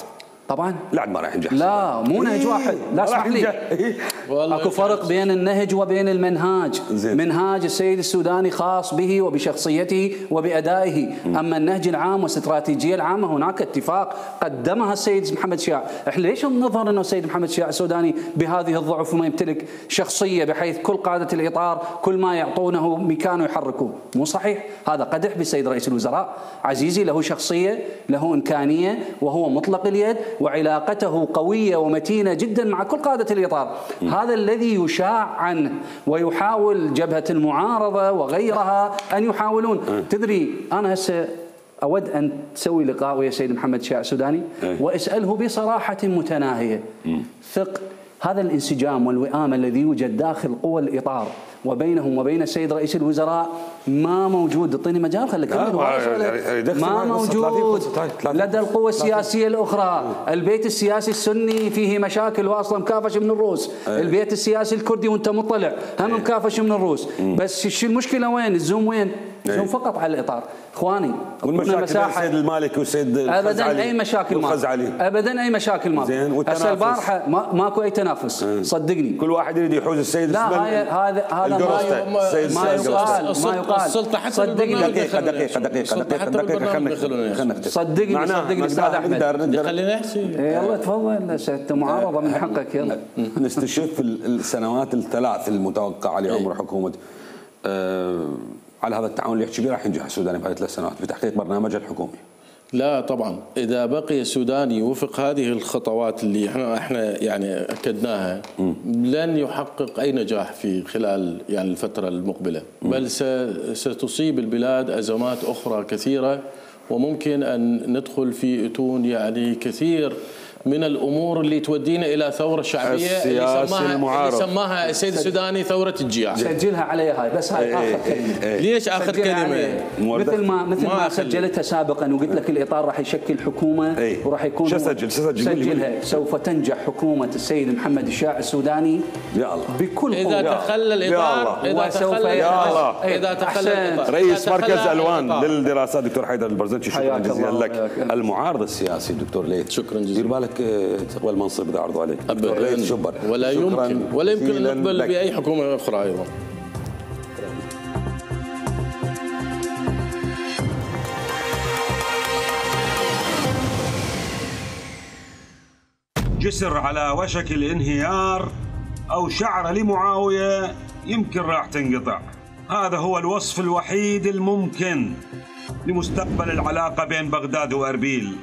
طبعا لا ما راح ينجح. لا مو نهج واحد. لا اسمح لي اكو فرق بين النهج وبين المنهاج. زين. منهاج السيد السوداني خاص به وبشخصيته وبأدائه، أما النهج العام والاستراتيجية العامة هناك اتفاق قدمها السيد محمد شياع. احنا ليش نظهر أنه السيد محمد شياع السوداني بهذه الضعف وما يمتلك شخصية بحيث كل قادة الإطار كل ما يعطونه مكانه يحركوه؟ مو صحيح، هذا قدح بالسيد رئيس الوزراء. عزيزي له شخصية، له إمكانية، وهو مطلق اليد، وعلاقته قوية ومتينة جدا مع كل قادة الإطار. م. هذا الذي يشاع عنه ويحاول جبهة المعارضة وغيرها أن يحاولون. م. تدري أنا هسه أود أن تسوي لقاء ويا سيد محمد شياع السوداني واسأله بصراحة متناهية. م. ثق هذا الانسجام والوئام الذي يوجد داخل قوى الإطار وبينهم وبين السيد رئيس الوزراء ما موجود. اعطيني مجال خليك ما موجود لدى القوى السياسيه الاخرى. البيت السياسي السني فيه مشاكل واصلا مكافش من الروس، البيت السياسي الكردي وانت مطلع هم مكافش من الروس. بس شو المشكله وين؟ الزوم وين؟ الزوم فقط على الاطار. اخواني والمشاكل السيد المالكي والسيد ابدا اي مشاكل ما ابدا اي مشاكل ما هسه البارحه ما ماكو اي تنافس. صدقني كل واحد يريد يحوز السيد لا هذا هذا ما يقال ما يقال. السلطه حتى صدقني دقيقه دقيقه دقيقه دقيقه خلينا صدقني صدقني استاذ احمد خلينا نحكي. يلا تفضل انت معارضه من حقك. يلا نستشف السنوات الثلاث المتوقعه لعمر حكومه أه على هذا التعاون اللي يحكي به راح ينجح السوداني بهذه الثلاث سنوات بتحقيق برنامجه الحكومي. لا طبعا اذا بقي السوداني يوفق هذه الخطوات اللي احنا احنا يعني اكدناها م. لن يحقق اي نجاح في خلال يعني الفتره المقبله، م. بل ستصيب البلاد ازمات اخرى كثيره وممكن ان ندخل في اتون يعني كثير من الامور اللي تودينا الى ثوره شعبيه اللي سماها اللي سماها السيد السوداني ثوره الجياع. سجلها علي هاي بس هاي اخر كلمه. ليش اخر كلمه؟ مثل ما مثل ما, ما سجلتها سابقا وقلت لك الاطار راح يشكل حكومه وراح يكون شو سجل سجل سجلها سوف تنجح حكومه السيد محمد الشياع السوداني يا الله بكل قوه. اذا تخلى الاطار اذا تخلى يا الله اذا تخلى الاطار. رئيس مركز الوان للدراسات دكتور حيدر البرزنجي شكرا جزيلا لك. المعارض السياسي دكتور ليث شكرا جزيلا. دير بالك تقبل المنصب اذا عرضوا عليك. ولا يمكن ولا يمكن ان نقبل باي حكومه اخرى ايضا. جسر على وشك الانهيار او شعر لمعاويه يمكن راح تنقطع. هذا هو الوصف الوحيد الممكن لمستقبل العلاقه بين بغداد واربيل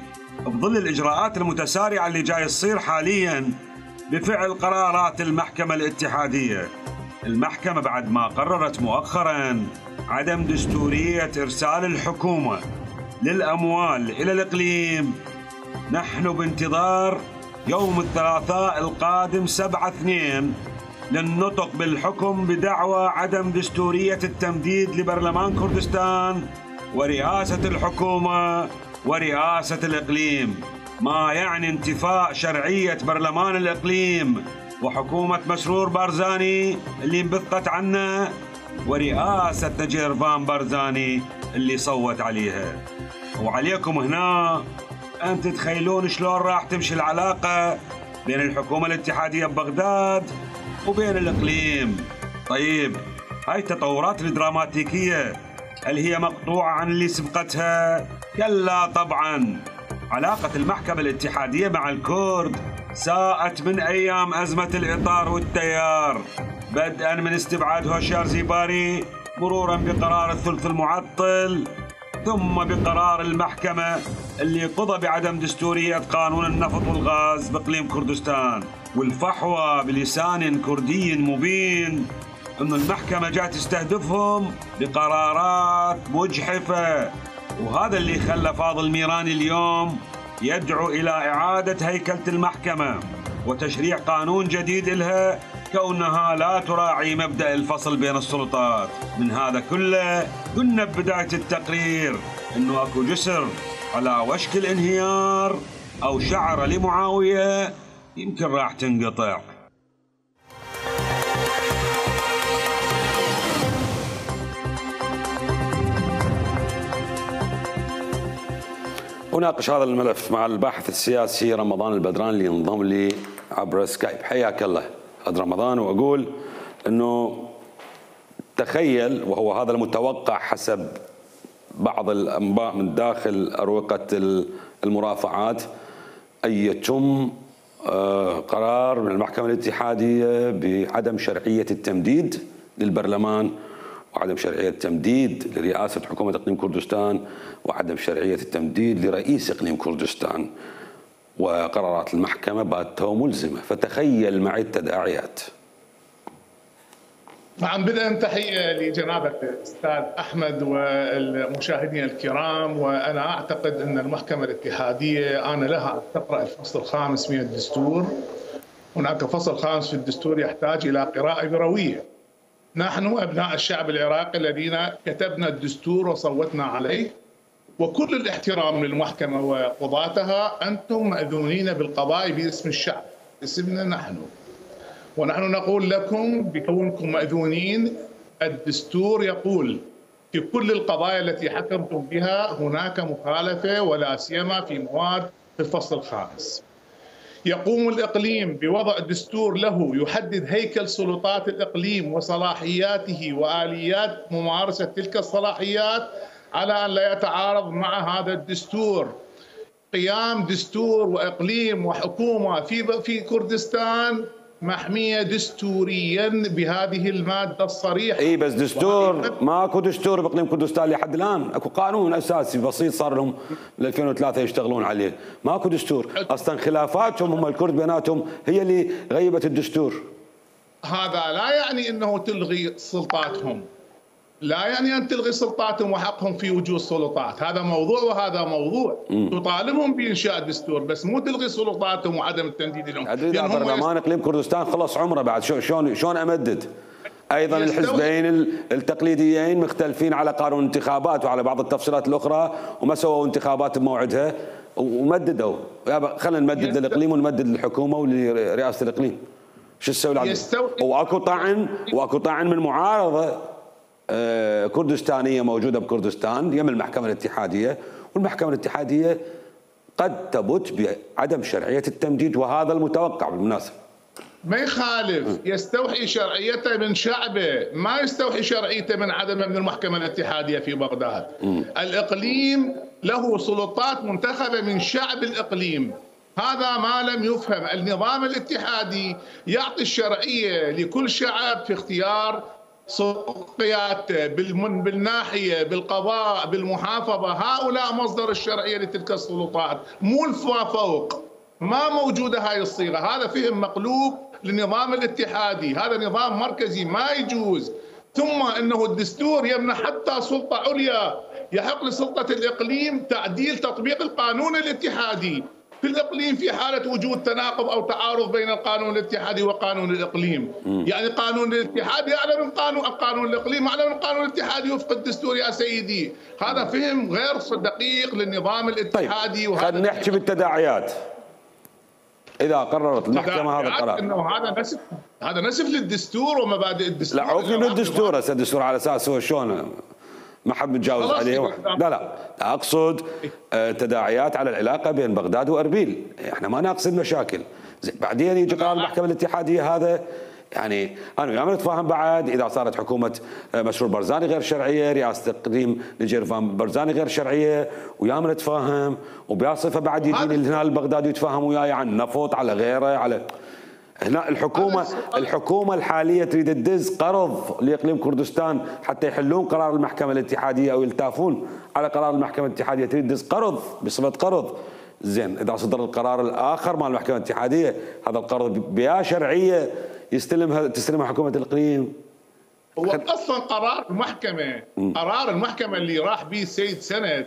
بظل الإجراءات المتسارعة اللي جاي تصير حالياً بفعل قرارات المحكمة الاتحادية. المحكمة بعد ما قررت مؤخراً عدم دستورية إرسال الحكومة للأموال إلى الإقليم، نحن بانتظار يوم الثلاثاء القادم سبعة اثنين للنطق بالحكم بدعوى عدم دستورية التمديد لبرلمان كردستان ورئاسة الحكومة ورئاسة الإقليم، ما يعني انتفاء شرعية برلمان الإقليم وحكومة مسرور بارزاني اللي انبثقت عنه ورئاسة نجيرفان بارزاني اللي صوت عليها. وعليكم هنا أن تتخيلون شلون راح تمشي العلاقة بين الحكومة الاتحادية ببغداد وبين الإقليم. طيب هاي التطورات الدراماتيكية هل هي مقطوعة عن اللي سبقتها؟ كلا طبعا. علاقة المحكمة الاتحادية مع الكرد ساءت من أيام أزمة الإطار والتيار، بدءا من استبعاد هوشيار زيباري مرورا بقرار الثلث المعطل ثم بقرار المحكمة اللي قضى بعدم دستورية قانون النفط والغاز بإقليم كردستان، والفحوى بلسان كردي مبين أن المحكمة جاءت تستهدفهم بقرارات مجحفة. وهذا اللي خلى فاضل ميراني اليوم يدعو إلى إعادة هيكلة المحكمة وتشريع قانون جديد لها كونها لا تراعي مبدأ الفصل بين السلطات. من هذا كله قلنا ببداية التقرير أنه أكو جسر على وشك الانهيار أو شعر لمعاوية يمكن راح تنقطع. أناقش هذا الملف مع الباحث السياسي رمضان البدران اللي ينضم لي عبر سكايب. حياك الله. هذا رمضان واقول انه تخيل، وهو هذا المتوقع حسب بعض الانباء من داخل اروقه المرافعات، ان يتم قرار من المحكمه الاتحاديه بعدم شرعيه التمديد للبرلمان، وعدم شرعيه التمديد لرئاسه حكومه اقليم كردستان، وعدم شرعيه التمديد لرئيس اقليم كردستان، وقرارات المحكمه باتوا ملزمه. فتخيل معي التداعيات. نعم، بدءا تحية لجنابة الأستاذ أحمد والمشاهدين الكرام. وأنا أعتقد أن المحكمة الاتحادية آن لها أن تقرأ الفصل الخامس من الدستور. هناك فصل خامس في الدستور يحتاج إلى قراءة بروية. نحن أبناء الشعب العراقي الذين كتبنا الدستور وصوتنا عليه، وكل الاحترام للمحكمة وقضاتها، أنتم مأذونين بالقضاء باسم الشعب، باسمنا نحن. ونحن نقول لكم بكونكم مأذونين، الدستور يقول في كل القضايا التي حكمتم بها هناك مخالفة، ولا سيما في مواد في الفصل الخامس. يقوم الإقليم بوضع دستور له يحدد هيكل سلطات الإقليم وصلاحياته وآليات ممارسة تلك الصلاحيات على أن لا يتعارض مع هذا الدستور. قيام دستور وإقليم وحكومة في في كردستان محمية دستوريا بهذه المادة الصريحة. اي بس دستور ماكو دستور باقليم كردستان لحد الان، اكو قانون اساسي بسيط صار لهم من ألفين وثلاثة يشتغلون عليه، ماكو دستور، اصلا خلافاتهم هم الكرد بيناتهم هي اللي غيبت الدستور. هذا لا يعني انه تلغي سلطاتهم، لا يعني أن تلغي سلطاتهم وحقهم في وجود سلطات، هذا موضوع وهذا موضوع. م. تطالبهم بإنشاء دستور بس مو تلغي سلطاتهم وعدم التمديد لهم. أدري إذا برلمان إقليم كردستان خلص عمره بعد، شلون شلون أمدد؟ أيضا الحزبين التقليديين مختلفين على قانون الانتخابات وعلى بعض التفصيلات الأخرى، وما سووا انتخابات بموعدها ومددوا. خلينا نمدد للإقليم ونمدد للحكومة ولرئاسة الإقليم. شو تسوي العدل؟ واكو طعن واكو طعن من معارضة كردستانية موجودة بكردستان يم المحكمة الاتحادية، والمحكمة الاتحادية قد تبت بعدم شرعية التمديد، وهذا المتوقع بالمناسبة. ما يخالف، يستوحي شرعيته من شعبه، ما يستوحي شرعيته من عدمه من المحكمة الاتحادية في بغداد. م. الإقليم له سلطات منتخبة من شعب الإقليم، هذا ما لم يفهم. النظام الاتحادي يعطي الشرعية لكل شعب في اختيار قيادته بالناحية بالقضاء بالمحافظة، هؤلاء مصدر الشرعية لتلك السلطات، مو الفا فوق. ما موجودة هاي الصيغة، هذا فهم مقلوب للنظام الاتحادي، هذا نظام مركزي ما يجوز. ثم انه الدستور يمنح حتى سلطة عليا، يحق لسلطة الإقليم تعديل تطبيق القانون الاتحادي في الإقليم في حالة وجود تناقض أو تعارض بين القانون الاتحادي وقانون الإقليم. م. يعني قانون الاتحادي أعلى من قانون القانون الإقليم أعلى من القانون الاتحادي وفق الدستور يا سيدي. هذا فهم غير دقيق للنظام الاتحادي. طيب خلينا نحكي بالتداعيات. إذا قررت المحكمة هذا القرار إنه هذا نسف هذا نسف للدستور ومبادئ الدستور. لا عوفني من الدستور، هسه الدستور على أساس هو شلون ما حد متجاوز عليه. لا لا اقصد تداعيات على العلاقه بين بغداد واربيل، احنا ما نقصد مشاكل. بعدين يجي قرار المحكمه الاتحاديه هذا، يعني انا وياهم نتفاهم بعد اذا صارت حكومه مشروع برزاني غير شرعيه، رئاسه اقليم نجيرفان برزاني غير شرعيه، وياهم نتفاهم، وبصفه بعد يجيني الهلال البغدادي يتفاهم وياي عن نفط على غيره على هنا. الحكومة الحكومة الحالية تريد تدز قرض لإقليم كردستان حتى يحلون قرار المحكمة الاتحادية أو يلتافون على قرار المحكمة الاتحادية، تريد تدز قرض بصفة قرض. زين إذا صدر القرار الآخر مع المحكمة الاتحادية، هذا القرض بيا شرعية يستلمها تستلمها حكومة الإقليم. هو أصلا قرار المحكمة م. قرار المحكمة اللي راح به السيد سند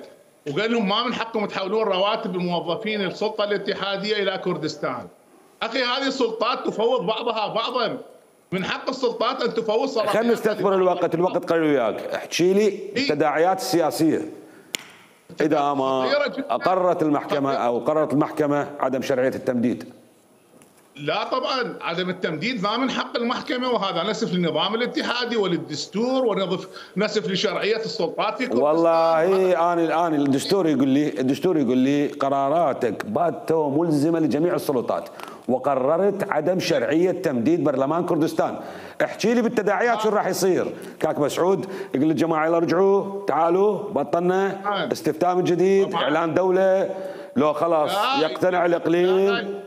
وقال لهم ما من حقكم تحولون رواتب الموظفين السلطة الاتحادية إلى كردستان. أخي هذه السلطات تفوض بعضها بعضا، من حق السلطات أن تفوض صلاحيات. خلينا نستثمر الوقت، الوقت قليل وياك، احكي لي التداعيات السياسية. إذا ما أقررت المحكمة أو قررت المحكمة عدم شرعية التمديد. لا طبعا عدم التمديد ما من حق المحكمه، وهذا نسف للنظام الاتحادي وللدستور ونظف نسف لشرعيه السلطات في كردستان. والله انا الان الدستور يقول لي الدستور يقول لي قراراتك باتوا ملزمه لجميع السلطات، وقررت عدم شرعيه تمديد برلمان كردستان. احكي لي بالتداعيات شو راح يصير؟ كاك مسعود يقول للجماعه يلا رجعوا تعالوا بطلنا استفتاء من جديد، اعلان دوله، لو خلاص يقتنع الاقليم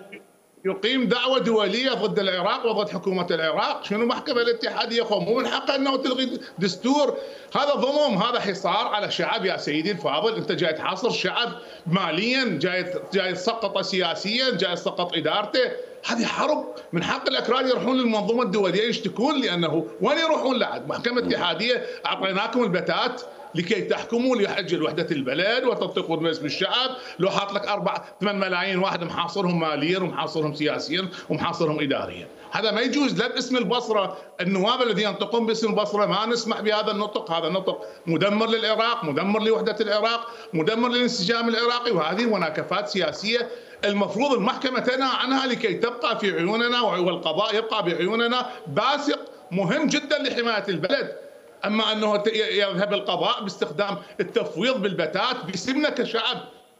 يقيم دعوة دولية ضد العراق وضد حكومة العراق. شنو المحكمة الاتحادية خو مو من حقها انه تلغي دستور؟ هذا ظلم، هذا حصار على شعب يا سيدي الفاضل. انت جاي تحاصر شعب ماليا، جاي جاي تسقطه سياسيا، جاي تسقط ادارته. هذه حرب. من حق الاكراد يروحون للمنظومة الدولية يشتكون، لانه وين يروحون لعد؟ محكمة اتحادية اعطيناكم البتات لكي تحكموا لحج وحدة البلد وتنطقوا باسم الشعب. لو حاط لك أربعة ثمان ملايين واحد محاصرهم ماليا ومحاصرهم سياسيا ومحاصرهم إداريا، هذا ما يجوز. لا باسم البصرة، النواب الذين ينطقون باسم البصرة ما نسمح بهذا النطق. هذا نطق مدمر للعراق، مدمر لوحدة العراق، مدمر للانسجام العراقي، وهذه مناكفات سياسية المفروض المحكمة تنهى عنها لكي تبقى في عيوننا والقضاء يبقى بعيوننا باسق مهم جدا لحماية البلد. اما انه يذهب القضاء باستخدام التفويض بالبتات باسمنا كشعب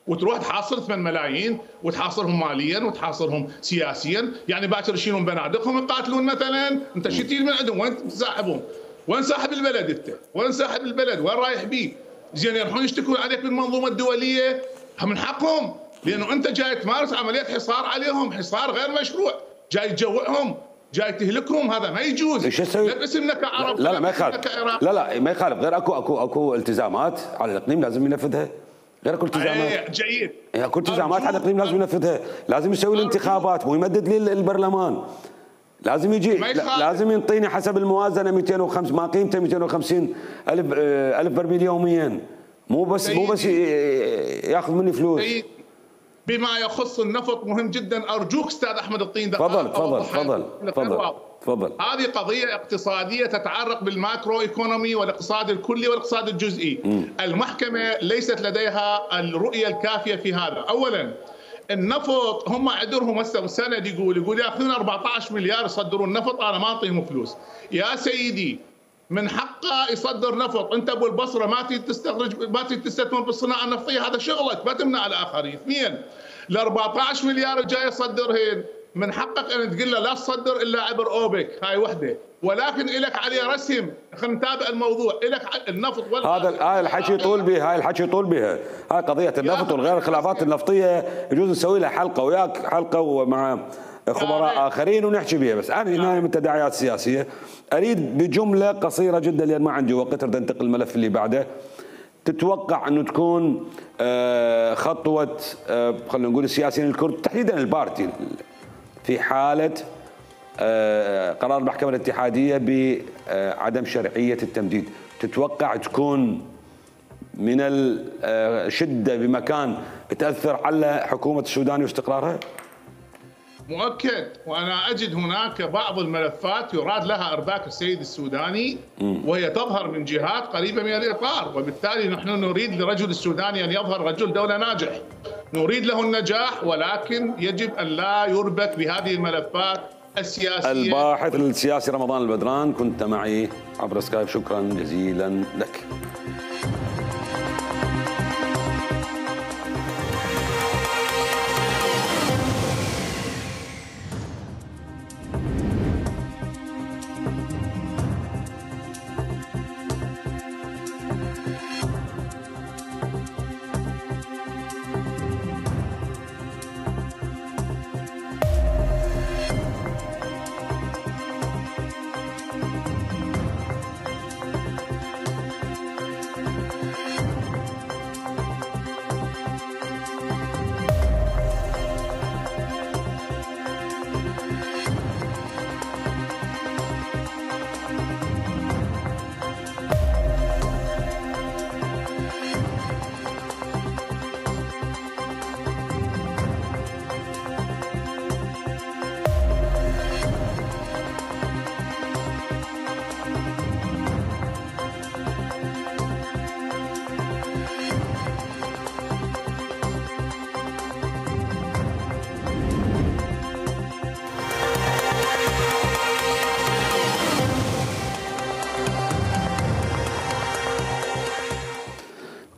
وتروح تحاصر ثمان ملايين وتحاصرهم ماليا وتحاصرهم سياسيا، يعني باكر يشيلون بنادقهم يقاتلون مثلا. انت شو تجيب من عندهم؟ وين تساحبهم؟ وين صاحب البلد انت؟ وين صاحب البلد؟ وين رايح بيه؟ زين يروحون يشتكون عليك بالمنظومه الدوليه، من حقهم، لانه انت جاي تمارس عمليه حصار عليهم، حصار غير مشروع، جاي تجوعهم، جاي تهلكهم. هذا ما يجوز. ايش اسوي؟ لا باسمنا كعرب، لا لا ما يخالف، لا لا ما يخالف، غير اكو اكو اكو التزامات على الاقليم لازم ينفذها، غير اكو التزامات. جيد. اكو التزامات على الاقليم لازم ينفذها، لازم يسوي الانتخابات، مو يمدد لي البرلمان، لازم يجي، لازم ينطيني حسب الموازنه مئتين وخمسة، ما قيمته مئتين وخمسين الف الف برميل يوميا، مو بس مو بس ياخذ مني فلوس. بما يخص النفط مهم جدا، ارجوك استاذ احمد الطين تفضل تفضل تفضل تفضل تفضل. هذه قضيه اقتصاديه تتعلق بالماكرو ايكونومي والاقتصاد الكلي والاقتصاد الجزئي. م. المحكمه ليست لديها الرؤيه الكافيه في هذا. اولا النفط هم عذرهم هسه السند يقول يقول ياخذون أربعة عشر مليار يصدرون نفط، انا ما اعطيهم فلوس. يا سيدي من حقه يصدر نفط، انت ابو البصره ما تريد تستخرج، ما تريد تستثمر بالصناعه النفطيه، هذا شغلك، ما تمنع الاخرين. اثنين ال أربعة عشر مليار جاي يصدرهن من حقك ان تقول له لا تصدر الا عبر اوبك، هاي وحده، ولكن لك عليه رسم. خلينا نتابع الموضوع. لك النفط ولا هذا هاي الحكي يطول بها، هاي الحكي يطول بها، هاي قضيه النفط والغير الخلافات النفطيه يجوز نسوي لها حلقه وياك، حلقه ومع خبراء اخرين ونحكي بها. بس انا هنا من التداعيات السياسيه اريد بجمله قصيره جدا لان ما عندي وقت، اريد انتقل الملف اللي بعده. تتوقع انه تكون خطوه خلينا نقول السياسيين الكرد تحديدا البارتي في حاله قرار المحكمه الاتحاديه بعدم شرعيه التمديد، تتوقع تكون من الشده بمكان تاثر على حكومه السودان واستقرارها؟ مؤكد. وانا اجد هناك بعض الملفات يراد لها ارباك السيد السوداني وهي تظهر من جهات قريبه من الاطار، وبالتالي نحن نريد لرجل السوداني ان يظهر رجل دوله ناجح، نريد له النجاح، ولكن يجب ان لا يربك بهذه الملفات السياسيه. الباحث السياسي رمضان البدران كنت معي عبر سكايب، شكرا جزيلا لك.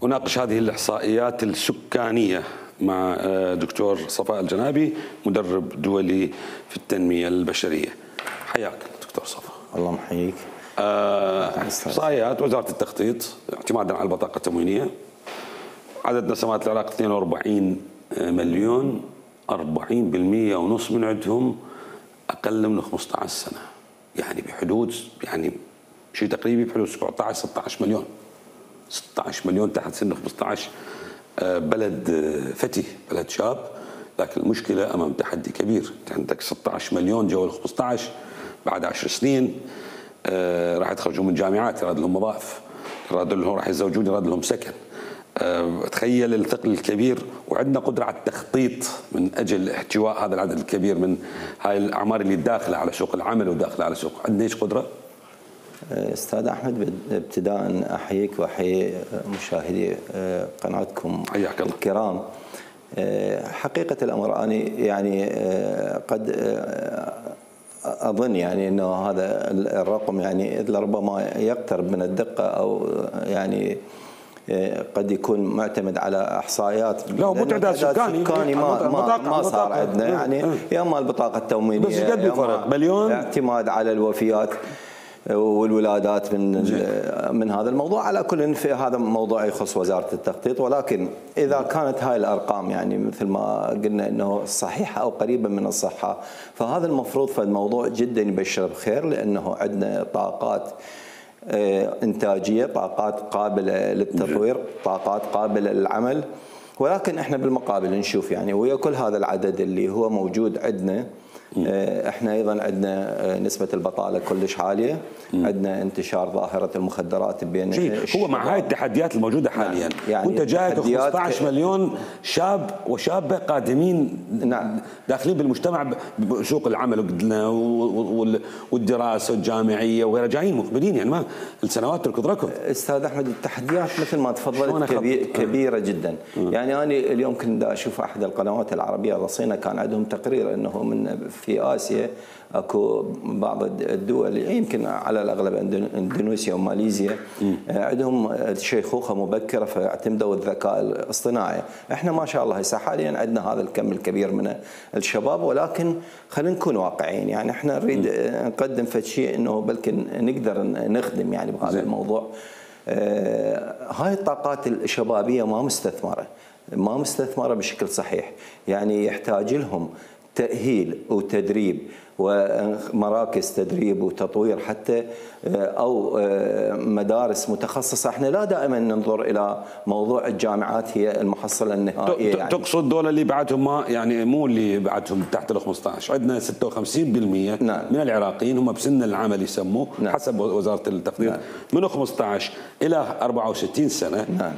أناقش هذه الإحصائيات السكانية مع دكتور صفاء الجنابي، مدرب دولي في التنمية البشرية. حياك دكتور صفاء. الله محييك. إحصائيات وزارة التخطيط اعتمادا على البطاقة التموينية، عدد نسمات العراق اثنين وأربعين مليون، أربعين بالمئة ونص من عندهم أقل من خمسة عشر سنة، يعني بحدود يعني شيء تقريبي بحدود سبعة عشر ستة عشر مليون، ستة عشر مليون تحت سن خمسة عشر. بلد فتي، بلد شاب، لكن المشكلة أمام تحدي كبير. عندك ستة عشر مليون جو ال خمسة عشر، بعد عشر سنين راح يتخرجون من جامعات، يراد لهم وظائف، يراد لهم راح يتزوجون، يراد لهم سكن. تخيل الثقل الكبير، وعندنا قدرة على التخطيط من أجل احتواء هذا العدد الكبير من هاي الأعمار اللي داخلة على سوق العمل وداخلة على سوق. عندنا ايش قدرة؟ استاذ احمد، ابتداء احييك واحيي مشاهدي قناتكم الكرام. حقيقة الامر انا يعني قد اظن يعني انه هذا الرقم يعني لربما يقترب من الدقة، او يعني قد يكون معتمد على احصائيات، لا مو تعداد سكاني, سكاني ما ما, ما صار عندنا يعني يا اما البطاقة التموينية بس قد الفرق مليون، اعتماد على الوفيات والولادات من من هذا الموضوع. على كل في هذا موضوع يخص وزارة التخطيط، ولكن إذا كانت هاي الأرقام يعني مثل ما قلنا أنه صحيحة أو قريبة من الصحة، فهذا المفروض فالموضوع جدا يبشر بخير، لأنه عندنا طاقات إنتاجية، طاقات قابلة للتطوير، طاقات قابلة للعمل. ولكن احنا بالمقابل نشوف يعني ويا كل هذا العدد اللي هو موجود عندنا، احنا ايضا عندنا نسبه البطاله كلش عاليه، عندنا انتشار ظاهره المخدرات بين هو مع هاي التحديات الموجوده حاليا. يعني وانت جايك خمسة عشر مليون شاب وشابه قادمين، نعم، داخلين بالمجتمع بسوق العمل قلنا والدراسه الجامعيه وغيرها، جايين مقبلين يعني ما السنوات تركض ركض. استاذ احمد، التحديات مثل ما تفضلت كبير كبيره جدا. م. يعني انا اليوم كنت اشوف احد القنوات العربيه الرصينه، كان عندهم تقرير انه من في آسيا اكو بعض الدول يمكن على الاغلب اندونيسيا وماليزيا عندهم شيخوخه مبكره، فاعتمدوا الذكاء الاصطناعي. احنا ما شاء الله هسه حاليا عندنا هذا الكم الكبير من الشباب، ولكن خلينا نكون واقعيين. يعني احنا نريد نقدم فد شيء انه بلكن نقدر نخدم يعني بهذا الموضوع. آه هاي الطاقات الشبابيه ما مستثمره، ما مستثمره بشكل صحيح، يعني يحتاج لهم تأهيل وتدريب ومراكز تدريب وتطوير حتى، أو مدارس متخصصة. احنا لا دائما ننظر إلى موضوع الجامعات هي المحصلة النهائية. يعني تقصد دول اللي بعدهم ما يعني مو اللي بعدهم تحت ال خمسة عشر، عندنا ستة وخمسين بالمئة نعم. من العراقيين هم بسن العمل يسموه نعم. حسب وزارة التخطيط نعم. من خمسة عشر إلى أربعة وستين سنة نعم.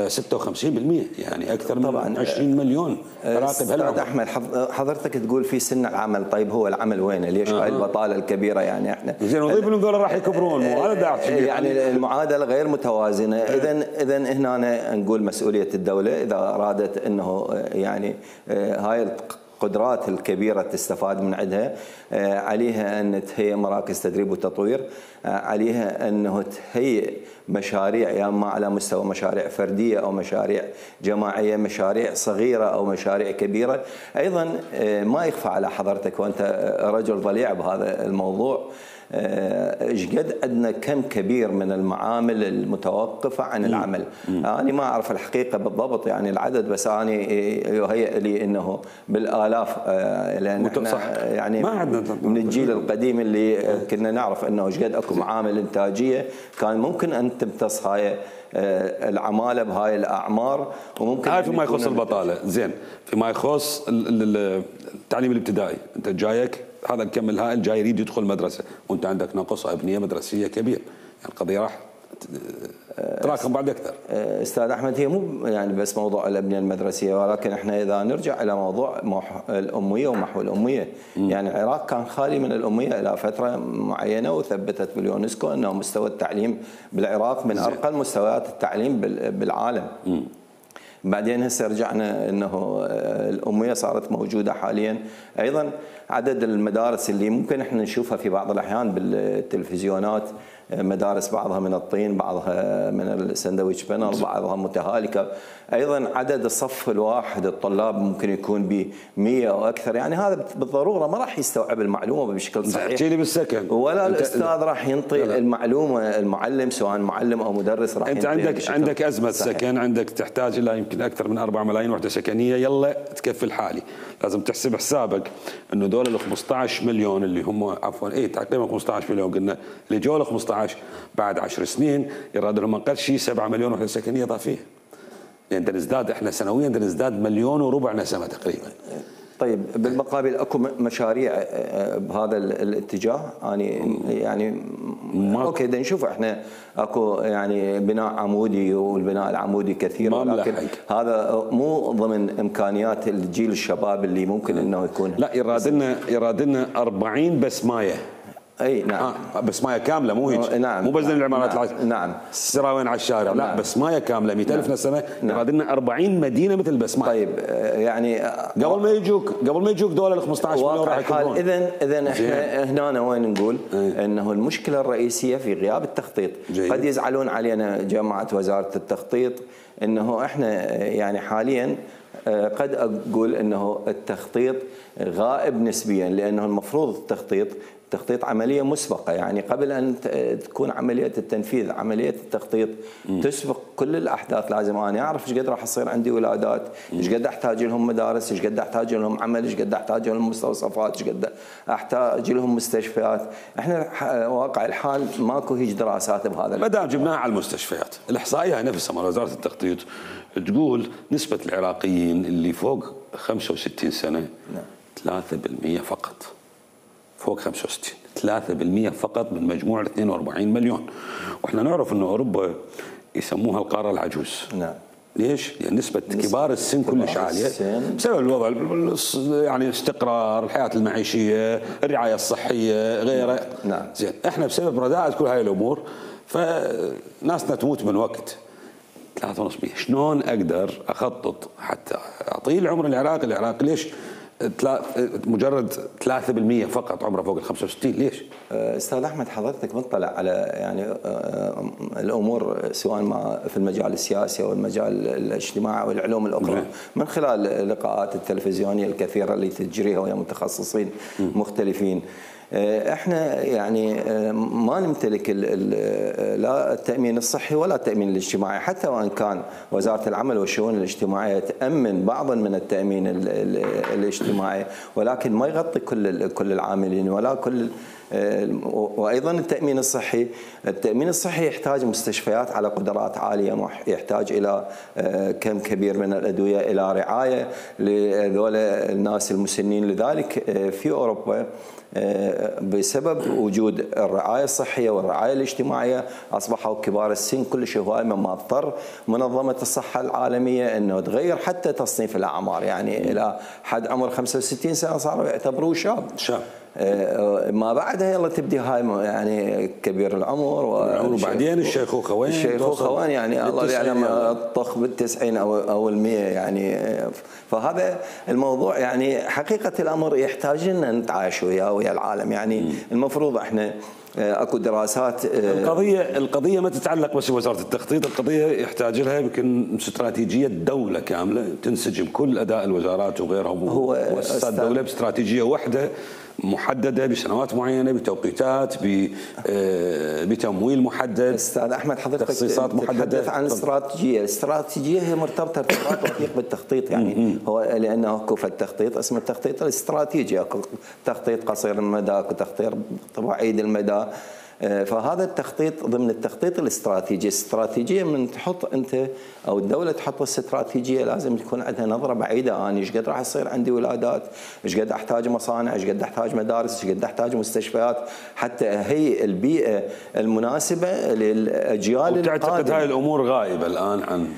ستة وخمسين بالمئة، يعني اكثر من طبعاً عشرين مليون عراقي بهالعمر. احمد، حضرتك تقول في سن العمل، طيب هو العمل وين؟ ليش هاي البطاله الكبيره؟ يعني احنا زين نضيف لهم ذول راح يكبرون، مو هذا داعي يعني المعادله غير متوازنه. اذا اذا هنا نقول مسؤوليه الدوله اذا ارادت انه يعني هاي القدرات الكبيرة تستفاد من عندها، عليها أن تهيئ مراكز تدريب وتطوير، عليها أنه تهيئ مشاريع يا اما على مستوى مشاريع فردية أو مشاريع جماعية، مشاريع صغيرة أو مشاريع كبيرة. أيضا ما يخفى على حضرتك وأنت رجل ضليع بهذا الموضوع، ايش قد عندنا كم كبير من المعامل المتوقفه عن العمل. انا يعني ما اعرف الحقيقه بالضبط يعني العدد، بس انا يهيئ لي انه بالالاف، لان احنا يعني من الجيل القديم اللي كنا نعرف انه ايش قد اكو معامل انتاجيه كان ممكن ان تمتص هاي العماله بهاي الاعمار. وممكن هاي فيما يخص البطاله. زين، فيما يخص التعليم الابتدائي، انت جايك هذا الكم الهائل جاي يريد يدخل مدرسه وانت عندك نقص ابنيه مدرسيه كبير، يعني القضيه راح تراكم بعد اكثر. استاذ احمد، هي مو يعني بس موضوع الابنيه المدرسيه، ولكن احنا اذا نرجع الى موضوع الاميه ومحو الاميه، م. يعني العراق كان خالي من الاميه الى فتره معينه، وثبتت باليونسكو انه مستوى التعليم بالعراق من ارقى المستويات التعليم بالعالم. م. بعدين هسه رجعنا انه الاميه صارت موجوده حاليا. ايضا عدد المدارس اللي ممكن احنا نشوفها في بعض الاحيان بالتلفزيونات مدارس بعضها من الطين، بعضها من السندويتش بانل، بعضها متهالكه. ايضا عدد الصف الواحد الطلاب ممكن يكون ب مئة او اكثر، يعني هذا بالضروره ما راح يستوعب المعلومه بشكل صحيح. احكي لي بالسكن ولا الاستاذ راح ينطي المعلومه، المعلم سواء معلم او مدرس راح انت عندك عندك ازمه صحيح. سكن، عندك تحتاج الى يمكن اكثر من أربعة ملايين وحده سكنيه، يلا تكفي الحالي. لازم تحسب حسابك انه دول ال خمسة عشر مليون اللي هم عفوا اي تقريبا خمسة عشر مليون قلنا اللي جو ال خمسة عشر بعد عشر سنين يراد لهم اقل شيء سبعة مليون وحده سكنيه اضافيه. يعني نزداد احنا سنويا نزداد مليون وربع نسمه تقريبا. طيب بالمقابل اكو مشاريع بهذا الاتجاه يعني يعني اوكي بدنا نشوف احنا اكو يعني بناء عمودي والبناء العمودي كثير، ولكن هذا مو ضمن امكانيات الجيل الشباب اللي ممكن انه يكون. لا يراد لنا يراد لنا أربعين بسمايه. اي نعم آه بسمايه كامله مو هيك. نعم مو بس العمارات نعم, العش... نعم. السراوين على الشارع، لا نعم. بسمايه كامله مئة ألف نسمه. نعم. يراد لنا أربعين مدينه مثل بسمايه. طيب يعني قبل ما يجوك قبل ما يجوك دول ال خمسة عشر مليون راح يكونون. اذا اذا احنا هنا وين نقول ايه؟ انه المشكله الرئيسيه في غياب التخطيط. جيد. قد يزعلون علينا جماعه وزاره التخطيط انه احنا يعني حاليا قد اقول انه التخطيط غائب نسبيا، لانه المفروض التخطيط تخطيط عمليه مسبقه، يعني قبل ان تكون عمليه التنفيذ عمليه التخطيط م. تسبق كل الاحداث. لازم انا اعرف ايش قد راح يصير عندي ولادات، ايش قد احتاج لهم مدارس، ايش قد احتاج لهم عمل، ايش قد احتاج لهم مستوصفات، ايش قد احتاج لهم مستشفيات. احنا واقع الحال ماكو هيج دراسات بهذا. ما دام جبناها على المستشفيات، الاحصائيه نفسها مال وزاره التخطيط تقول نسبه العراقيين اللي فوق خمسة وستين سنه نعم. ثلاثة بالمئة فقط. فوق خمسة وستين ثلاثة بالمئة فقط من مجموع اثنين وأربعين مليون. واحنا نعرف انه اوروبا يسموها القاره العجوز. نعم. ليش؟ لان نسبه كبار السن كلش عاليه بسبب الوضع يعني الاستقرار، الحياه المعيشيه، الرعايه الصحيه، غيره. نعم. زين احنا بسبب رداءة كل هاي الامور فناسنا تموت من وقت. ثلاثة ونص مية شلون اقدر اخطط حتى اطيل عمر العراق؟ العراق ليش مجرد ثلاثة بالمئة فقط عمره فوق ال خمسة وستين؟ ليش؟ استاذ احمد حضرتك مطلع على يعني الامور سواء ما في المجال السياسي او المجال الاجتماعي او العلوم الاخرى من خلال اللقاءات التلفزيونيه الكثيره اللي تجريها ويا متخصصين مختلفين. احنا يعني ما نمتلك لا التامين الصحي ولا التامين الاجتماعي، حتى وان كان وزاره العمل والشؤون الاجتماعيه تامن بعضا من التامين الاجتماعي، ولكن ما يغطي كل كل العاملين ولا كل. وايضا التامين الصحي، التامين الصحي يحتاج مستشفيات على قدرات عاليه، يحتاج الى كم كبير من الادويه، الى رعايه لذول الناس المسنين. لذلك في اوروبا بسبب وجود الرعايه الصحيه والرعايه الاجتماعيه اصبحوا كبار السن كلش هواي، مما اضطر منظمه الصحه العالميه انه تغير حتى تصنيف الاعمار، يعني الى حد عمر خمسة وستين سنه صاروا يعتبروه شاب. شاب. ما بعدها يلا تبدي هاي يعني كبير العمر وبعدين الشيخوخه وين؟ الشيخوخه وين يعني الله يعلم الطخ بالتسعين او او المية يعني. فهذا الموضوع يعني حقيقه الامر يحتاج لنا نتعايش وياه ويا العالم، يعني م. المفروض احنا اكو دراسات. القضيه القضيه ما تتعلق بس بوزاره التخطيط، القضيه يحتاج لها يمكن استراتيجيه دوله كامله تنسجم كل اداء الوزارات وغيرها ومؤسسات الدوله باستراتيجيه واحده محدده بسنوات معينه بتوقيتات بتمويل محدد. استاذ احمد حضرتك تخصيصات محدده تتحدث عن الاستراتيجيه، الاستراتيجيه هي مرتبطه ارتباط وثيق بالتخطيط، يعني هو لانه اكو التخطيط اسمه التخطيط الاستراتيجي، اكو تخطيط قصير المدى، اكو تخطيط بعيد المدى. فهذا التخطيط ضمن التخطيط الاستراتيجي. الاستراتيجيه من تحط انت او الدوله تحط الاستراتيجيه لازم تكون عندها نظره بعيده. انا ايش قد راح يصير عندي ولادات، ايش قد احتاج مصانع، ايش قد احتاج مدارس، ايش قد احتاج مستشفيات، حتى هي البيئه المناسبه للاجيال القادمه. وتعتقد هاي الامور غائبه الان عن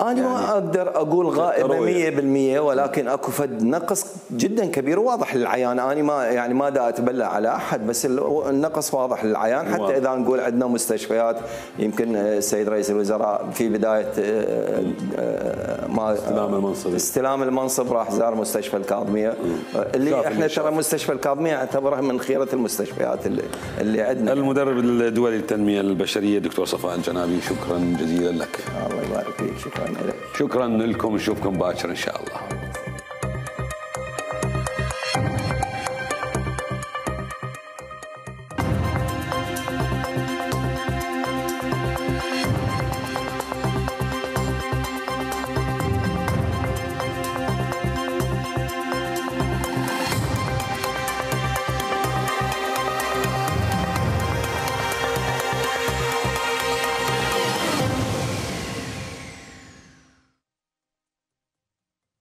أنا يعني ما أقدر أقول غائبة مية بالمية، ولكن أكو فد نقص جدا كبير واضح للعيان. أنا ما يعني ما دا أتبلى على أحد، بس النقص واضح للعيان. حتى واضح. إذا نقول عندنا مستشفيات، يمكن السيد رئيس الوزراء في بداية ما استلام المنصب استلام المنصب راح زار مستشفى الكاظمية، اللي احنا ترى مستشفى الكاظمية اعتبرها من خيرة المستشفيات اللي, اللي عندنا. المدرب الدولي للتنمية البشرية دكتور صفاء الجنابي، شكرا جزيلا لك. الله يبارك فيك. شكرا لك. شكرا لكم، نشوفكم باكر ان شاء الله.